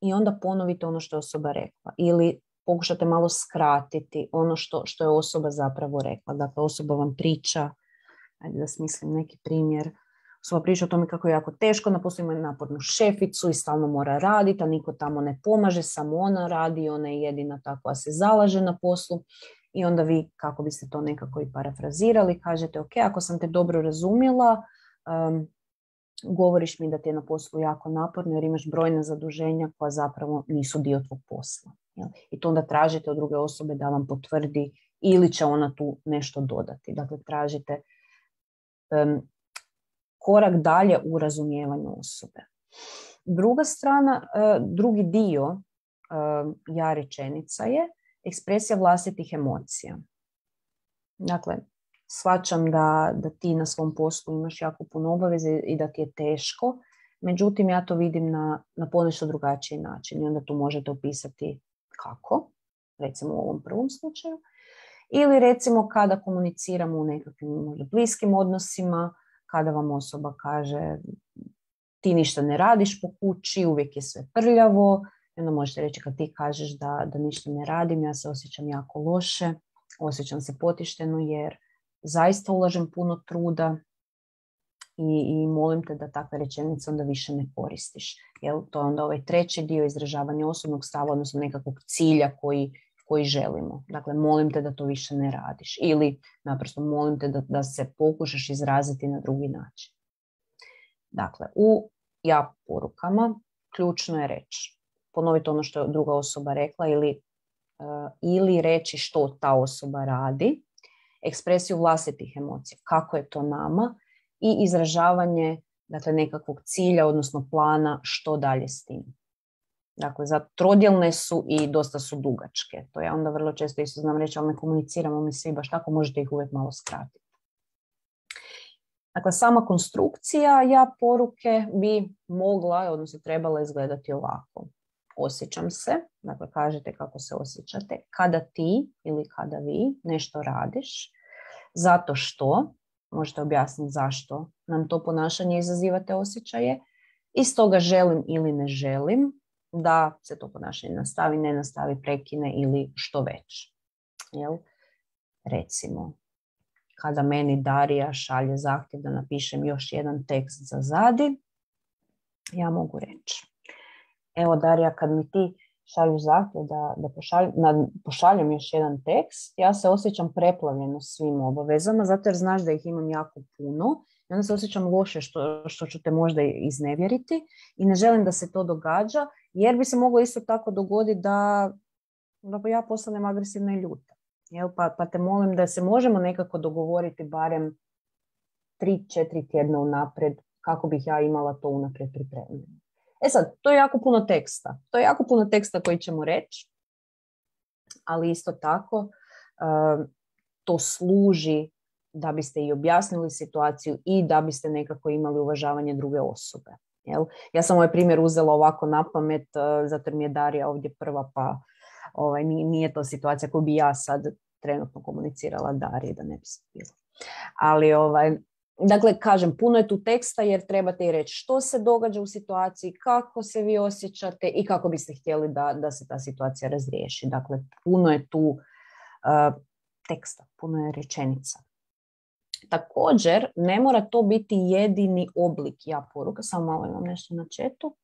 i onda ponovite ono što je osoba rekla ili pokušate malo skratiti ono što, što je osoba zapravo rekla. Dakle, osoba vam priča, ajde da smislim neki primjer, osoba priča o tome kako je jako teško, na poslu ima napornu šeficu i stalno mora raditi, a niko tamo ne pomaže, samo ona radi, ona je jedina ta koja se zalaže na poslu. I onda vi, kako biste to nekako i parafrazirali, kažete, ok, ako sam te dobro razumjela, um, govoriš mi da ti je na poslu jako naporno jer imaš brojna zaduženja koja zapravo nisu dio tvog posla. Jel? I to onda tražite od druge osobe da vam potvrdi ili će ona tu nešto dodati. Dakle, tražite um, korak dalje u razumijevanju osobe. Druga strana, uh, drugi dio uh, ja rečenica je ekspresija vlastitih emocija. Dakle, shvaćam da, da ti na svom poslu imaš jako puno obaveze i da ti je teško, međutim ja to vidim na, na ponešto drugačiji način i onda tu možete opisati kako, recimo u ovom prvom slučaju, ili recimo kada komuniciramo u nekakvim možda bliskim odnosima, kada vam osoba kaže ti ništa ne radiš po kući, uvijek je sve prljavo, i onda možete reći kad ti kažeš da, da ništa ne radim, ja se osjećam jako loše, osjećam se potišteno jer zaista ulažem puno truda i, i molim te da takve rečenice onda više ne koristiš. Jel? To je onda ovaj treći dio izražavanja osobnog stava, odnosno nekakvog cilja koji, koji želimo. Dakle, molim te da to više ne radiš. Ili naprosto molim te da, da se pokušaš izraziti na drugi način. Dakle, u ja porukama ključno je reći, ponoviti ono što je druga osoba rekla ili, uh, ili reći što ta osoba radi, ekspresiju vlastitih emocija, kako je to nama i izražavanje dakle, nekakvog cilja, odnosno plana što dalje s tim. Dakle, za trodjelne su i dosta su dugačke. To ja onda vrlo često isto znam reći, ali ne komuniciramo mi svi baš tako, možete ih uvijek malo skratiti. Dakle, sama konstrukcija ja poruke bi mogla, odnosno trebala izgledati ovako. Osjećam se, dakle kažete kako se osjećate, kada ti ili kada vi nešto radiš, zato što, možete objasniti zašto nam to ponašanje izaziva te osjećaje, i stoga želim ili ne želim da se to ponašanje nastavi, ne nastavi, prekine ili što već. Jel? Recimo, kada meni Darija šalje zahtjev da napišem još jedan tekst za Zadi, ja mogu reći, evo Darija, kad mi ti šalješ zahtjev da, da pošalj, na, pošaljem još jedan tekst, ja se osjećam preplavljeno svim obavezama, zato jer znaš da ih imam jako puno i onda se osjećam loše što, što ću te možda iznevjeriti i ne želim da se to događa, jer bi se moglo isto tako dogoditi da, da ja postanem agresivna i ljuta. Jel? Pa, pa te molim da se možemo nekako dogovoriti barem tri četiri tjedna unaprijed kako bih ja imala to unaprijed pripremljeno. E sad, to je jako puno teksta. To je jako puno teksta koji ćemo reći, ali isto tako uh, to služi da biste i objasnili situaciju i da biste nekako imali uvažavanje druge osobe. Jel? Ja sam ovaj primjer uzela ovako na pamet, uh, zato jer mi je Darija ovdje prva, pa ovaj, nije, nije to situacija koju bi ja sad trenutno komunicirala Dariji, da ne bi se bilo. Ali ovaj, dakle, kažem, puno je tu teksta jer trebate i reći što se događa u situaciji, kako se vi osjećate i kako biste htjeli da, da se ta situacija razriješi. Dakle, puno je tu uh, teksta, puno je rečenica. Također, ne mora to biti jedini oblik ja poruka, samo malo imam nešto na chatu.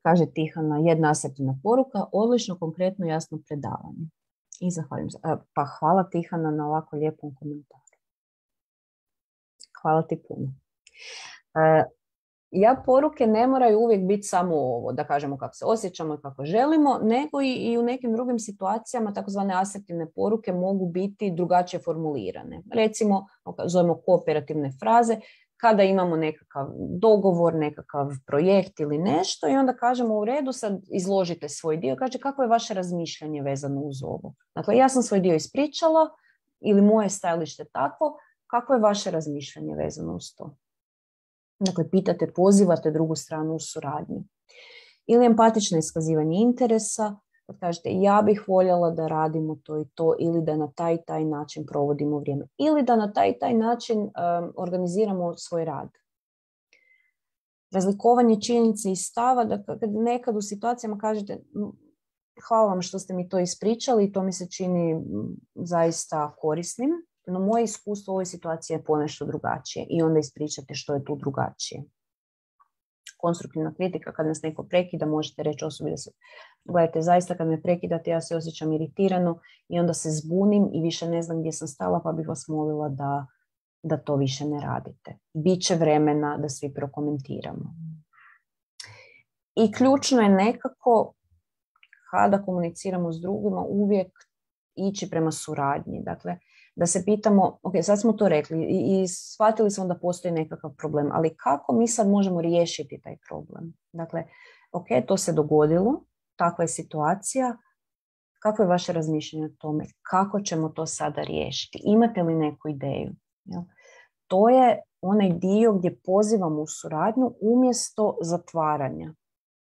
Kaže Tihana, jedna asertivna poruka, odlično, konkretno, jasno predavanje. I zahvaljujem se. Uh, pa hvala Tihana na ovako lijepom komentaru. Hvala ti puno. Uh, ja poruke ne moraju uvijek biti samo ovo, da kažemo kako se osjećamo i kako želimo, nego i, i u nekim drugim situacijama takozvane asertivne poruke mogu biti drugačije formulirane. Recimo, zovemo kooperativne fraze, kada imamo nekakav dogovor, nekakav projekt ili nešto i onda kažemo u redu, sad izložite svoj dio, kaže kako je vaše razmišljanje vezano uz ovo. Dakle, ja sam svoj dio ispričala ili moje stajalište takvo, kako je vaše razmišljanje vezano uz to? Dakle, pitate, pozivate drugu stranu u suradnju. Ili empatično iskazivanje interesa, kad kažete ja bih voljela da radimo to i to, ili da na taj taj način provodimo vrijeme, ili da na taj taj način um, organiziramo svoj rad. Razlikovanje činjenice i stava, da kad nekad u situacijama kažete hvala vam što ste mi to ispričali i to mi se čini zaista korisnim. No moje iskustvo u ovoj situaciji je ponešto drugačije i onda ispričate što je tu drugačije. Konstruktivna kritika, kad nas neko prekida, možete reći osobi da se, gledajte, zaista kad me prekidate, ja se osjećam iritirano i onda se zbunim i više ne znam gdje sam stala, pa bih vas molila da, da to više ne radite. Biće vremena da svi prokomentiramo. I ključno je nekako, kada komuniciramo s drugima, uvijek ići prema suradnji. Dakle, da se pitamo, ok, sad smo to rekli i, i shvatili smo da postoji nekakav problem, ali kako mi sad možemo riješiti taj problem? Dakle, ok, to se dogodilo, takva je situacija, kako je vaše razmišljanje o tome? Kako ćemo to sada riješiti? Imate li neku ideju? Jel? To je onaj dio gdje pozivamo u suradnju umjesto zatvaranja.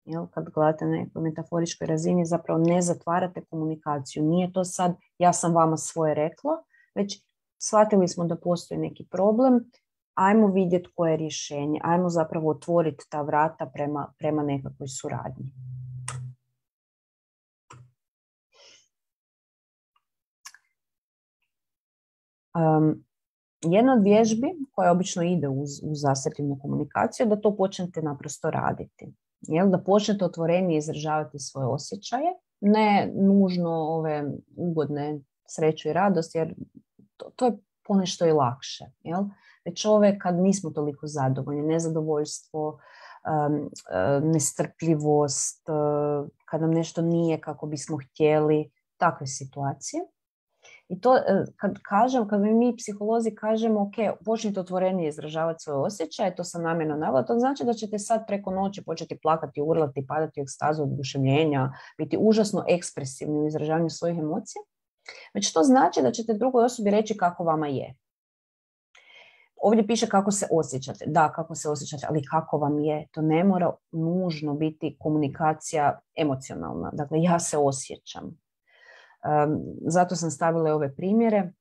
Jel? Kad gledate na nekoj metaforičkoj razini, zapravo ne zatvarate komunikaciju. Nije to sad, ja sam vama svoje rekla, već shvatili smo da postoji neki problem, ajmo vidjeti koje je rješenje, ajmo zapravo otvoriti ta vrata prema, prema nekakvoj suradnji. Um, jedna od vježbi koja obično ide uz, uz asertivnu komunikaciju je da to počnete naprosto raditi. Jel? Da počnete otvorenije izražavati svoje osjećaje, ne nužno ove ugodne sreću i radost, jer to, to je ponešto i lakše. Jel? Već ove kad nismo toliko zadovoljni, nezadovoljstvo, um, nestrpljivost, uh, kad nam nešto nije kako bismo htjeli, takve situacije. I to kad kažem, kad mi psiholozi kažemo ok, počnite otvorenije izražavati svoje osjećaje, to sam namjerno navela, to znači da ćete sad preko noći početi plakati, urlati, padati u ekstazu oduševljenja, biti užasno ekspresivni u izražavanju svojih emocija. Već to znači da ćete drugoj osobi reći kako vama je. Ovdje piše kako se osjećate. Da, kako se osjećate, ali kako vam je. To ne mora nužno biti komunikacija emocionalna. Dakle, ja se osjećam. Um, zato sam stavila ove primjere.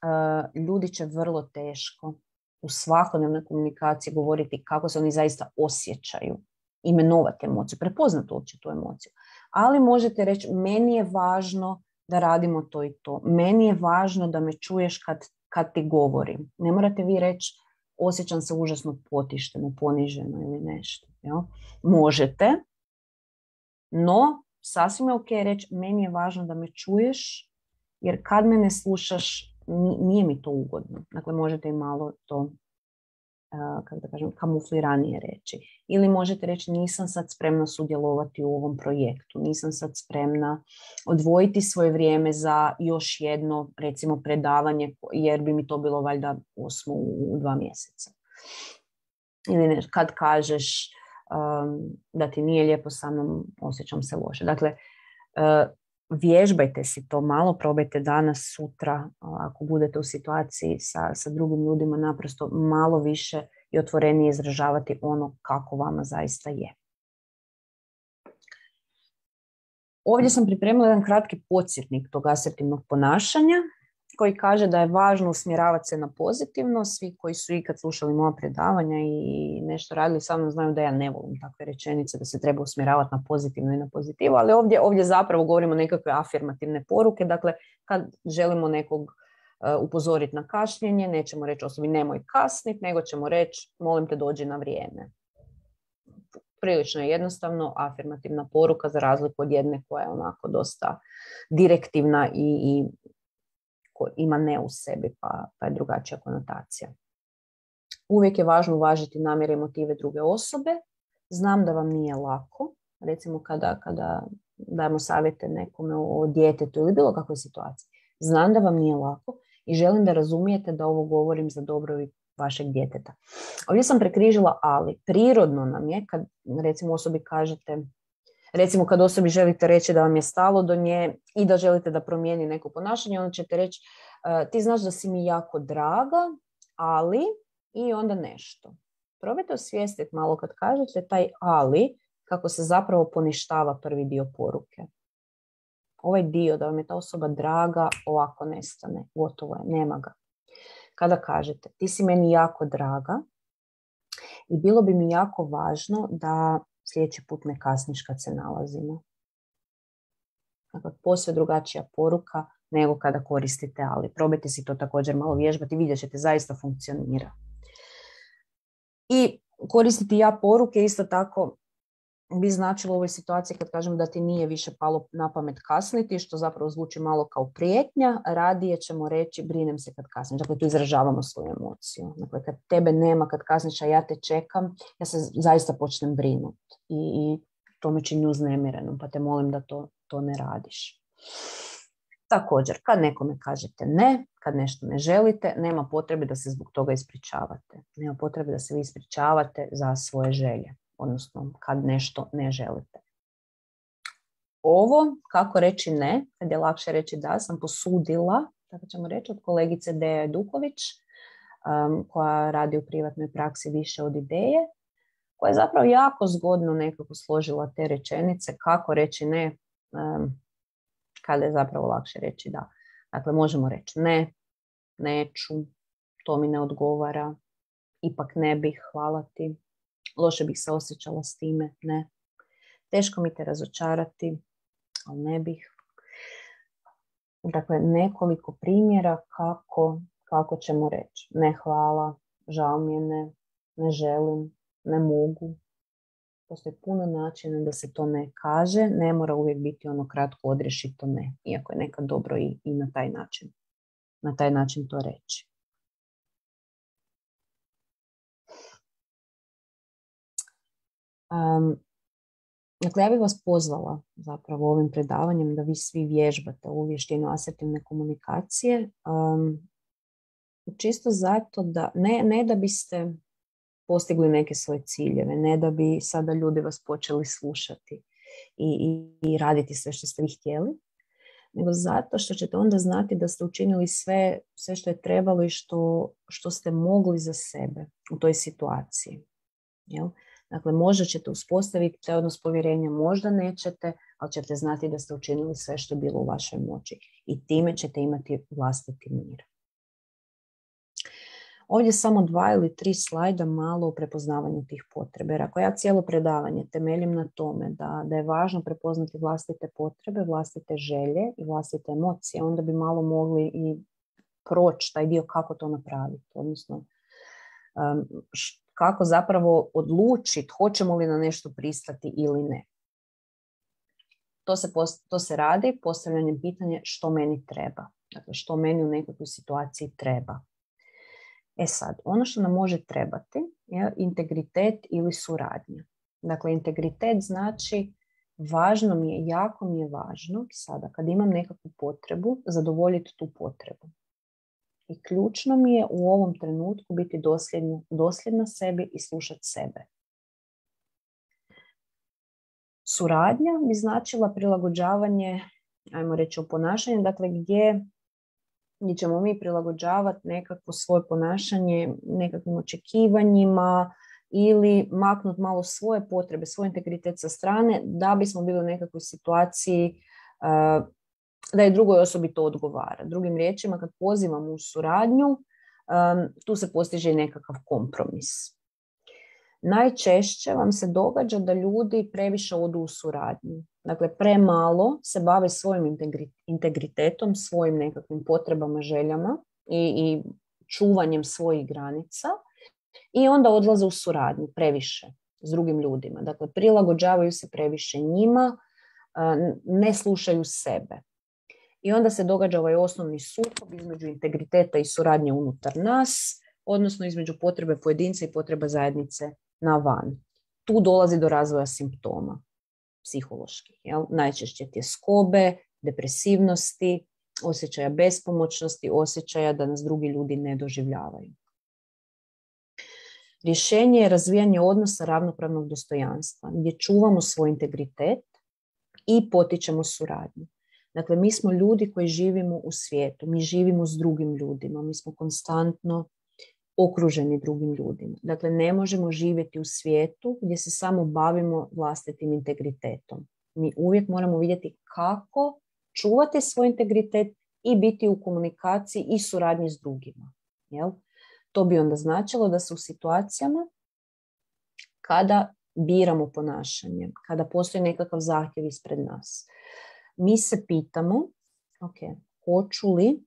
Uh, ljudi će vrlo teško u svakodnevnoj komunikaciji govoriti kako se oni zaista osjećaju. Imenovati emociju, prepoznati uopće tu emociju. Ali možete reći, meni je važno da radimo to i to. Meni je važno da me čuješ kad, kad ti govorim. Ne morate vi reći, osjećam se užasno potišteno, poniženo ili nešto. Jel? Možete, no sasvim je ok reći, meni je važno da me čuješ, jer kad me ne slušaš, nije mi to ugodno. Dakle, možete i malo to, uh, kako da kažem, kamufliranije reći. Ili možete reći, nisam sad spremna sudjelovati u ovom projektu, nisam sad spremna odvojiti svoje vrijeme za još jedno, recimo, predavanje, jer bi mi to bilo valjda osmo u dva mjeseca. Ili ne, kad kažeš um, da ti nije lijepo sa mnom, osjećam se loše. Dakle, uh, vježbajte si to malo, probajte danas, sutra, ako budete u situaciji sa, sa drugim ljudima, naprosto malo više i otvorenije izražavati ono kako vama zaista je. Ovdje sam pripremila jedan kratki podsjetnik tog asertivnog ponašanja koji kaže da je važno usmjeravati se na pozitivno. Svi koji su ikad slušali moja predavanja i nešto radili sa mnom znaju da ja ne volim takve rečenice, da se treba usmjeravati na pozitivno i na pozitivu, ali ovdje, ovdje zapravo govorimo nekakve afirmativne poruke. Dakle, kad želimo nekog uh, upozoriti na kašnjenje, nećemo reći osobi nemoj kasniti, nego ćemo reći molim te dođi na vrijeme. Prilično je jednostavno afirmativna poruka za razliku od jedne koja je onako dosta direktivna i, i ima ne u sebi, pa, pa je drugačija konotacija. Uvijek je važno uvažiti namjere i motive druge osobe. Znam da vam nije lako, recimo kada, kada dajemo savjete nekome o djetetu ili bilo kakvoj situaciji. Znam da vam nije lako i želim da razumijete da ovo govorim za dobrobit vašeg djeteta. Ovdje sam prekrižila ali. Prirodno nam je kad recimo osobi kažete, recimo kad osobi želite reći da vam je stalo do nje i da želite da promijeni neko ponašanje, onda ćete reći ti znaš da si mi jako draga, ali i onda nešto. Probajte osvijestiti malo kad kažete taj ali, kako se zapravo poništava prvi dio poruke. Ovaj dio da vam je ta osoba draga ovako nestane, gotovo je, nema ga. Kada kažete ti si meni jako draga i bilo bi mi jako važno da sljedeći put ne kasniš kad se nalazimo. Dakle, posve drugačija poruka nego kada koristite ali. Probajte si to također malo vježbati i vidjet ćete, zaista funkcionira. I koristiti ja poruke isto tako bi značilo u ovoj situaciji kad kažem da ti nije više palo na pamet kasniti, što zapravo zvuči malo kao prijetnja, radije ćemo reći brinem se kad kasniš. Dakle, tu izražavamo svoju emociju. Dakle, kad tebe nema, kad kasniš, a ja te čekam, ja se zaista počnem brinuti i, i to me čini uznemirenom, pa te molim da to, to ne radiš. Također, kad nekome kažete ne, kad nešto ne želite, nema potrebe da se zbog toga ispričavate. Nema potrebe da se vi ispričavate za svoje želje, odnosno kad nešto ne želite. Ovo, kako reći ne, kad je lakše reći da, sam posudila, tako ćemo reći, od kolegice Deja Duković, um, koja radi u privatnoj praksi više od ideje, koja je zapravo jako zgodno nekako složila te rečenice, kako reći ne, um, kada je zapravo lakše reći da. Dakle, možemo reći ne, neću, to mi ne odgovara, ipak ne bih, hvala ti, loše bih se osjećala s time, ne. Teško mi te razočarati, ali ne bih. Dakle, nekoliko primjera kako, kako ćemo reći. Ne hvala, žao mi je, ne, ne želim, ne mogu. Postoji puno načina da se to ne kaže, ne mora uvijek biti ono kratko odrješito ne, iako je nekad dobro i, i na taj način, na taj način to reći. Um, dakle, ja bih vas pozvala zapravo ovim predavanjem da vi svi vježbate ovu vještinu asertivne komunikacije, um, čisto zato da, ne, ne da biste postigli neke svoje ciljeve, ne da bi sada ljudi vas počeli slušati i, i, i raditi sve što ste vi htjeli, nego zato što ćete onda znati da ste učinili sve, sve što je trebalo i što, što ste mogli za sebe u toj situaciji. Jel? Dakle, možda ćete uspostaviti taj odnos povjerenja, možda nećete, ali ćete znati da ste učinili sve što je bilo u vašoj moći i time ćete imati vlastiti mir. Ovdje samo dva ili tri slajda malo o prepoznavanju tih potrebe. Jer ako ja cijelo predavanje temeljim na tome da, da je važno prepoznati vlastite potrebe, vlastite želje i vlastite emocije, onda bi malo mogli i proći taj dio kako to napraviti. Odnosno, um, š, kako zapravo odlučiti hoćemo li na nešto pristati ili ne. To se, post, to se radi postavljanjem pitanja što meni treba. Dakle, što meni u nekakvoj situaciji treba. E sad, ono što nam može trebati je integritet ili suradnja. Dakle, integritet znači važno mi je, jako mi je važno sada kad imam nekakvu potrebu, zadovoljiti tu potrebu. I ključno mi je u ovom trenutku biti dosljedna, dosljedna sebi i slušati sebe. Suradnja bi značila prilagođavanje, ajmo reći, u ponašanju, dakle gdje gdje ćemo mi prilagođavati nekakvo svoje ponašanje nekakvim očekivanjima ili maknuti malo svoje potrebe, svoj integritet sa strane da bismo bili u nekakvoj situaciji uh, da je drugoj osobi to odgovara. Drugim riječima, kad pozivamo u suradnju, um, tu se postiže i nekakav kompromis. Najčešće vam se događa da ljudi previše odu u suradnju. Dakle, premalo se bave svojim integritetom, svojim nekakvim potrebama, željama i, i čuvanjem svojih granica i onda odlaze u suradnju previše s drugim ljudima. Dakle, prilagođavaju se previše njima, ne slušaju sebe. I onda se događa ovaj osnovni sukob između integriteta i suradnje unutar nas, odnosno između potrebe pojedinca i potreba zajednice na van. Tu dolazi do razvoja simptoma psiholoških. Jel? Najčešće tjeskobe, depresivnosti, osjećaja bespomoćnosti, osjećaja da nas drugi ljudi ne doživljavaju. Rješenje je razvijanje odnosa ravnopravnog dostojanstva, gdje čuvamo svoj integritet i potičemo suradnju. Dakle, mi smo ljudi koji živimo u svijetu, mi živimo s drugim ljudima, mi smo konstantno okruženi drugim ljudima. Dakle, ne možemo živjeti u svijetu gdje se samo bavimo vlastitim integritetom. Mi uvijek moramo vidjeti kako čuvati svoj integritet i biti u komunikaciji i suradnji s drugima. Jel? To bi onda značilo da se u situacijama kada biramo ponašanje, kada postoji nekakav zahtjev ispred nas, mi se pitamo, ok, hoću li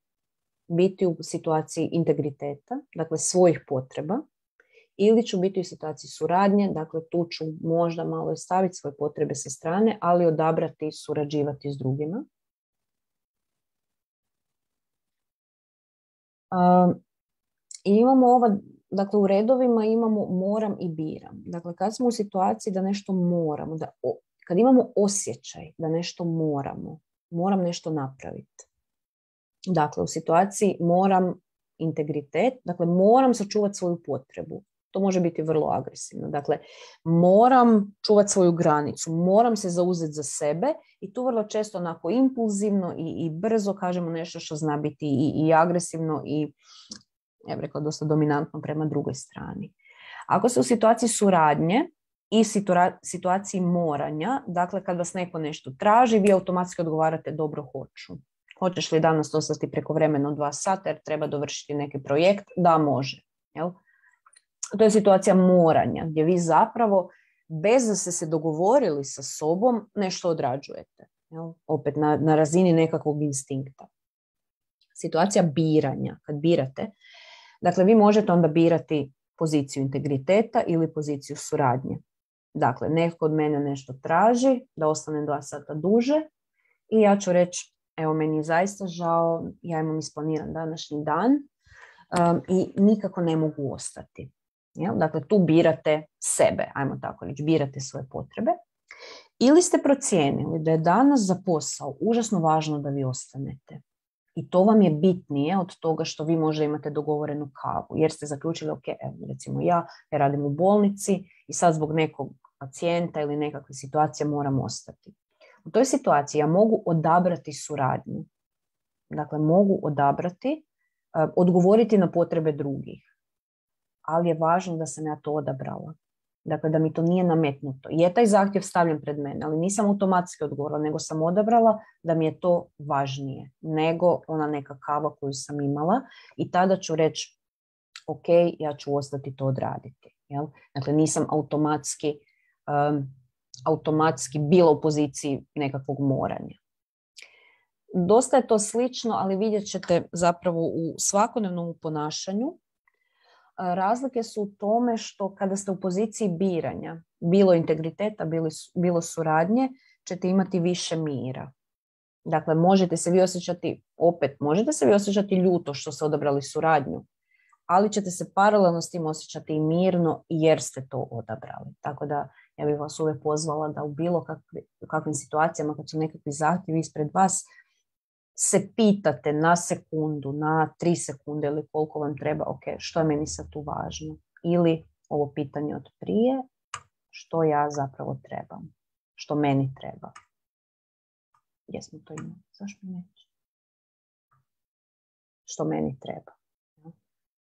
biti u situaciji integriteta, dakle svojih potreba, ili ću biti u situaciji suradnje, dakle tu ću možda malo staviti svoje potrebe sa strane, ali odabrati i surađivati s drugima. Uh, I imamo ova, dakle u redovima imamo moram i biram. Dakle, kad smo u situaciji da nešto moramo, da, kad imamo osjećaj da nešto moramo, moram nešto napraviti. Dakle, u situaciji moram integritet, dakle moram sačuvati svoju potrebu. To može biti vrlo agresivno. Dakle, moram čuvati svoju granicu, moram se zauzeti za sebe i tu vrlo često onako impulzivno i, i brzo kažemo nešto što zna biti i, i agresivno i, ja bih rekla, dosta dominantno prema drugoj strani. Ako ste u situaciji suradnje i situa- situaciji moranja, dakle kad vas neko nešto traži, vi automatski odgovarate dobro hoću. Hoćeš li danas ostati prekovremeno dva sata jer treba dovršiti neki projekt? Da, može. Jel? To je situacija moranja, gdje vi zapravo, bez da ste se dogovorili sa sobom, nešto odrađujete. Jel? Opet na, na razini nekakvog instinkta. Situacija biranja, kad birate, dakle vi možete onda birati poziciju integriteta ili poziciju suradnje. Dakle, neko od mene nešto traži, da ostanem dva sata duže i ja ću reći, evo, meni je zaista žao, ja imam isplaniran današnji dan um, i nikako ne mogu ostati. Jel? Dakle, tu birate sebe, ajmo tako reći, birate svoje potrebe. Ili ste procijenili da je danas za posao užasno važno da vi ostanete. I to vam je bitnije od toga što vi možda imate dogovorenu kavu. Jer ste zaključili, ok, evo, recimo ja, ja radim u bolnici i sad zbog nekog pacijenta ili nekakve situacije moram ostati. U toj situaciji ja mogu odabrati suradnju. Dakle, mogu odabrati, uh, odgovoriti na potrebe drugih. Ali je važno da sam ja to odabrala. Dakle, da mi to nije nametnuto. Je taj zahtjev stavljen pred mene, ali nisam automatski odgovorila, nego sam odabrala da mi je to važnije nego ona neka kava koju sam imala i tada ću reći, ok, ja ću ostati to odraditi. Jel? Dakle, nisam automatski, um, automatski bila u poziciji nekakvog moranja. Dosta je to slično, ali vidjet ćete zapravo u svakodnevnom ponašanju. Razlike su u tome što kada ste u poziciji biranja, bilo integriteta, bilo, bilo suradnje, ćete imati više mira. Dakle, možete se vi osjećati, opet, možete se vi osjećati ljuto što ste odabrali suradnju, ali ćete se paralelno s tim osjećati i mirno jer ste to odabrali. Tako da ja bih vas uvijek pozvala da u bilo kakvi, kakvim situacijama, kad su nekakvi zahtjevi ispred vas, se pitate na sekundu, na tri sekunde ili koliko vam treba, ok, što je meni sad tu važno? Ili ovo pitanje od prije, što ja zapravo trebam? Što meni treba? Jesmo to imali? Zašto neće? Što meni treba?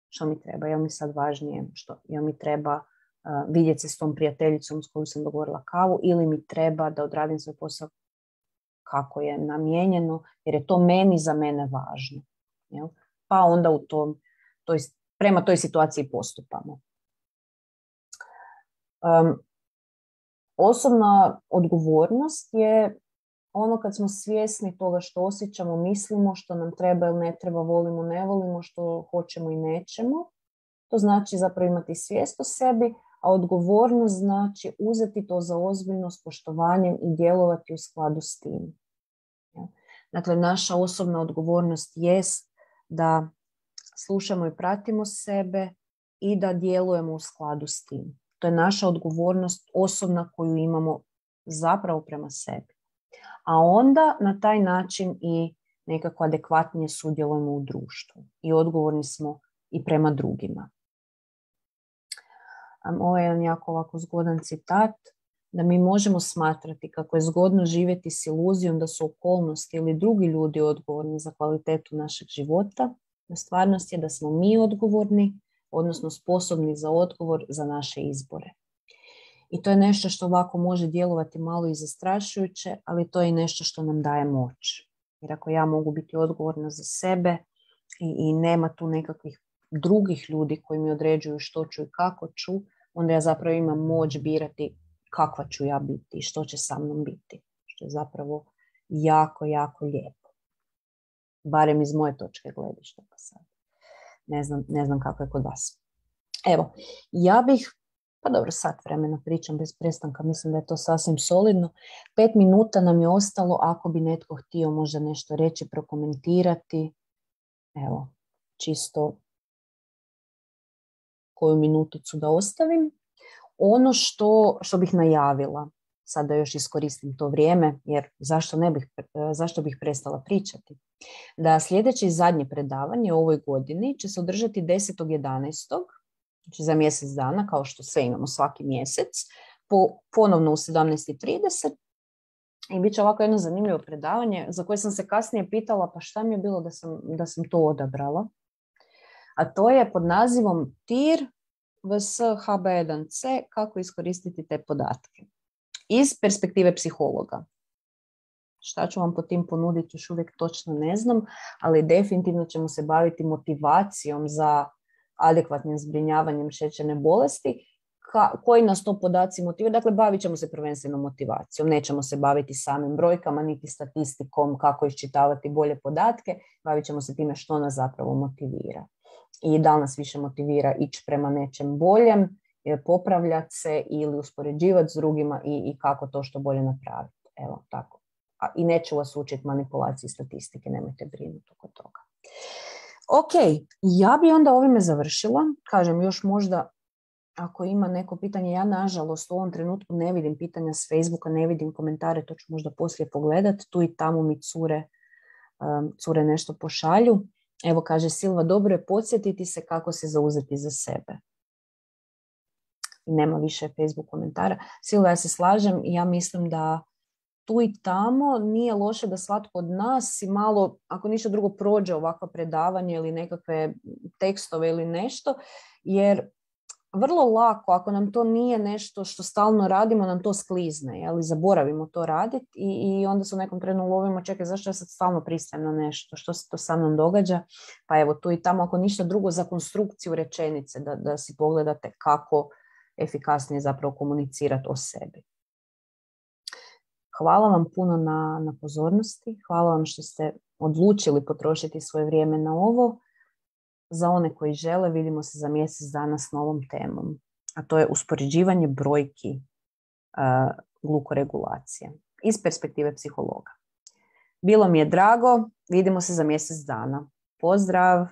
Što mi treba? Je li mi sad važnije? Što? Je li mi treba uh, vidjeti se s tom prijateljicom s kojom sam dogovorila kavu ili mi treba da odradim svoj posao kako je namijenjeno, jer je to meni za mene važno. Jel? Pa onda u tom, toj, prema toj situaciji postupamo. Um, osobna odgovornost je ono kad smo svjesni toga što osjećamo, mislimo, što nam treba ili ne treba, volimo, ne volimo, što hoćemo i nećemo. To znači zapravo imati svijest o sebi, a odgovornost znači uzeti to za ozbiljno s poštovanjem i djelovati u skladu s tim. Dakle, naša osobna odgovornost jest da slušamo i pratimo sebe i da djelujemo u skladu s tim. To je naša odgovornost osobna koju imamo zapravo prema sebi. A onda na taj način i nekako adekvatnije sudjelujemo u društvu i odgovorni smo i prema drugima. Ovo je jedan jako ovako zgodan citat, da mi možemo smatrati kako je zgodno živjeti s iluzijom da su okolnosti ili drugi ljudi odgovorni za kvalitetu našeg života. Na stvarnost je da smo mi odgovorni, odnosno sposobni za odgovor za naše izbore. I to je nešto što ovako može djelovati malo i zastrašujuće, ali to je i nešto što nam daje moć. Jer ako ja mogu biti odgovorna za sebe i, i nema tu nekakvih drugih ljudi koji mi određuju što ću i kako ću, onda ja zapravo imam moć birati kakva ću ja biti i što će sa mnom biti. Što je zapravo jako, jako lijepo. Barem iz moje točke gledišta pa sad. Ne znam, ne znam kako je kod vas. Evo, ja bih, pa dobro, sat vremena pričam bez prestanka, mislim da je to sasvim solidno. Pet minuta nam je ostalo, ako bi netko htio možda nešto reći, prokomentirati. Evo, čisto koju minuticu da ostavim. Ono što, što bih najavila, sad da još iskoristim to vrijeme, jer zašto ne bih, zašto bih prestala pričati, da sljedeće i zadnje predavanje u ovoj godini će se održati desetog jedanaestog znači za mjesec dana, kao što sve imamo svaki mjesec, po, ponovno u sedamnaest i trideset. I bit će ovako jedno zanimljivo predavanje za koje sam se kasnije pitala pa šta mi je bilo da sam, da sam to odabrala. A to je pod nazivom T I R vs H B jedan C, kako iskoristiti te podatke. Iz perspektive psihologa. Šta ću vam po tim ponuditi, još uvijek točno ne znam, ali definitivno ćemo se baviti motivacijom za adekvatnim zbrinjavanjem šećerne bolesti. Ka, koji nas to podaci motiviraju? Dakle, bavit ćemo se prvenstveno motivacijom. Nećemo se baviti samim brojkama, niti statistikom, kako iščitavati bolje podatke. Bavit ćemo se time što nas zapravo motivira. I da li nas više motivira ići prema nečem boljem, popravljati se ili uspoređivati s drugima i, i kako to što bolje napraviti. Evo, tako. A, i neću vas učiti manipulaciji statistike, nemojte brinuti oko toga. Ok, ja bi onda ovime završila. Kažem, još možda ako ima neko pitanje, ja nažalost u ovom trenutku ne vidim pitanja s Facebooka, ne vidim komentare, to ću možda poslije pogledati. Tu i tamo mi cure, um, cure nešto pošalju. Evo kaže Silva, dobro je podsjetiti se kako se zauzeti za sebe. Nema više Facebook komentara. Silva, ja se slažem i ja mislim da tu i tamo nije loše da svatko od nas i malo, ako ništa drugo, prođe ovakva predavanje ili nekakve tekstove ili nešto, jer vrlo lako, ako nam to nije nešto što stalno radimo, nam to sklizne, ali zaboravimo to raditi i, i onda se u nekom trenu lovimo, čekaj, zašto ja sad stalno pristajem na nešto, što se to sa mnom događa, pa evo tu i tamo, ako ništa drugo, za konstrukciju rečenice, da, da si pogledate kako efikasnije zapravo komunicirati o sebi. Hvala vam puno na, na pozornosti, hvala vam što ste odlučili potrošiti svoje vrijeme na ovo. Za one koji žele, vidimo se za mjesec dana s novom temom, a to je uspoređivanje brojki uh, glukoregulacije iz perspektive psihologa. Bilo mi je drago, vidimo se za mjesec dana. Pozdrav!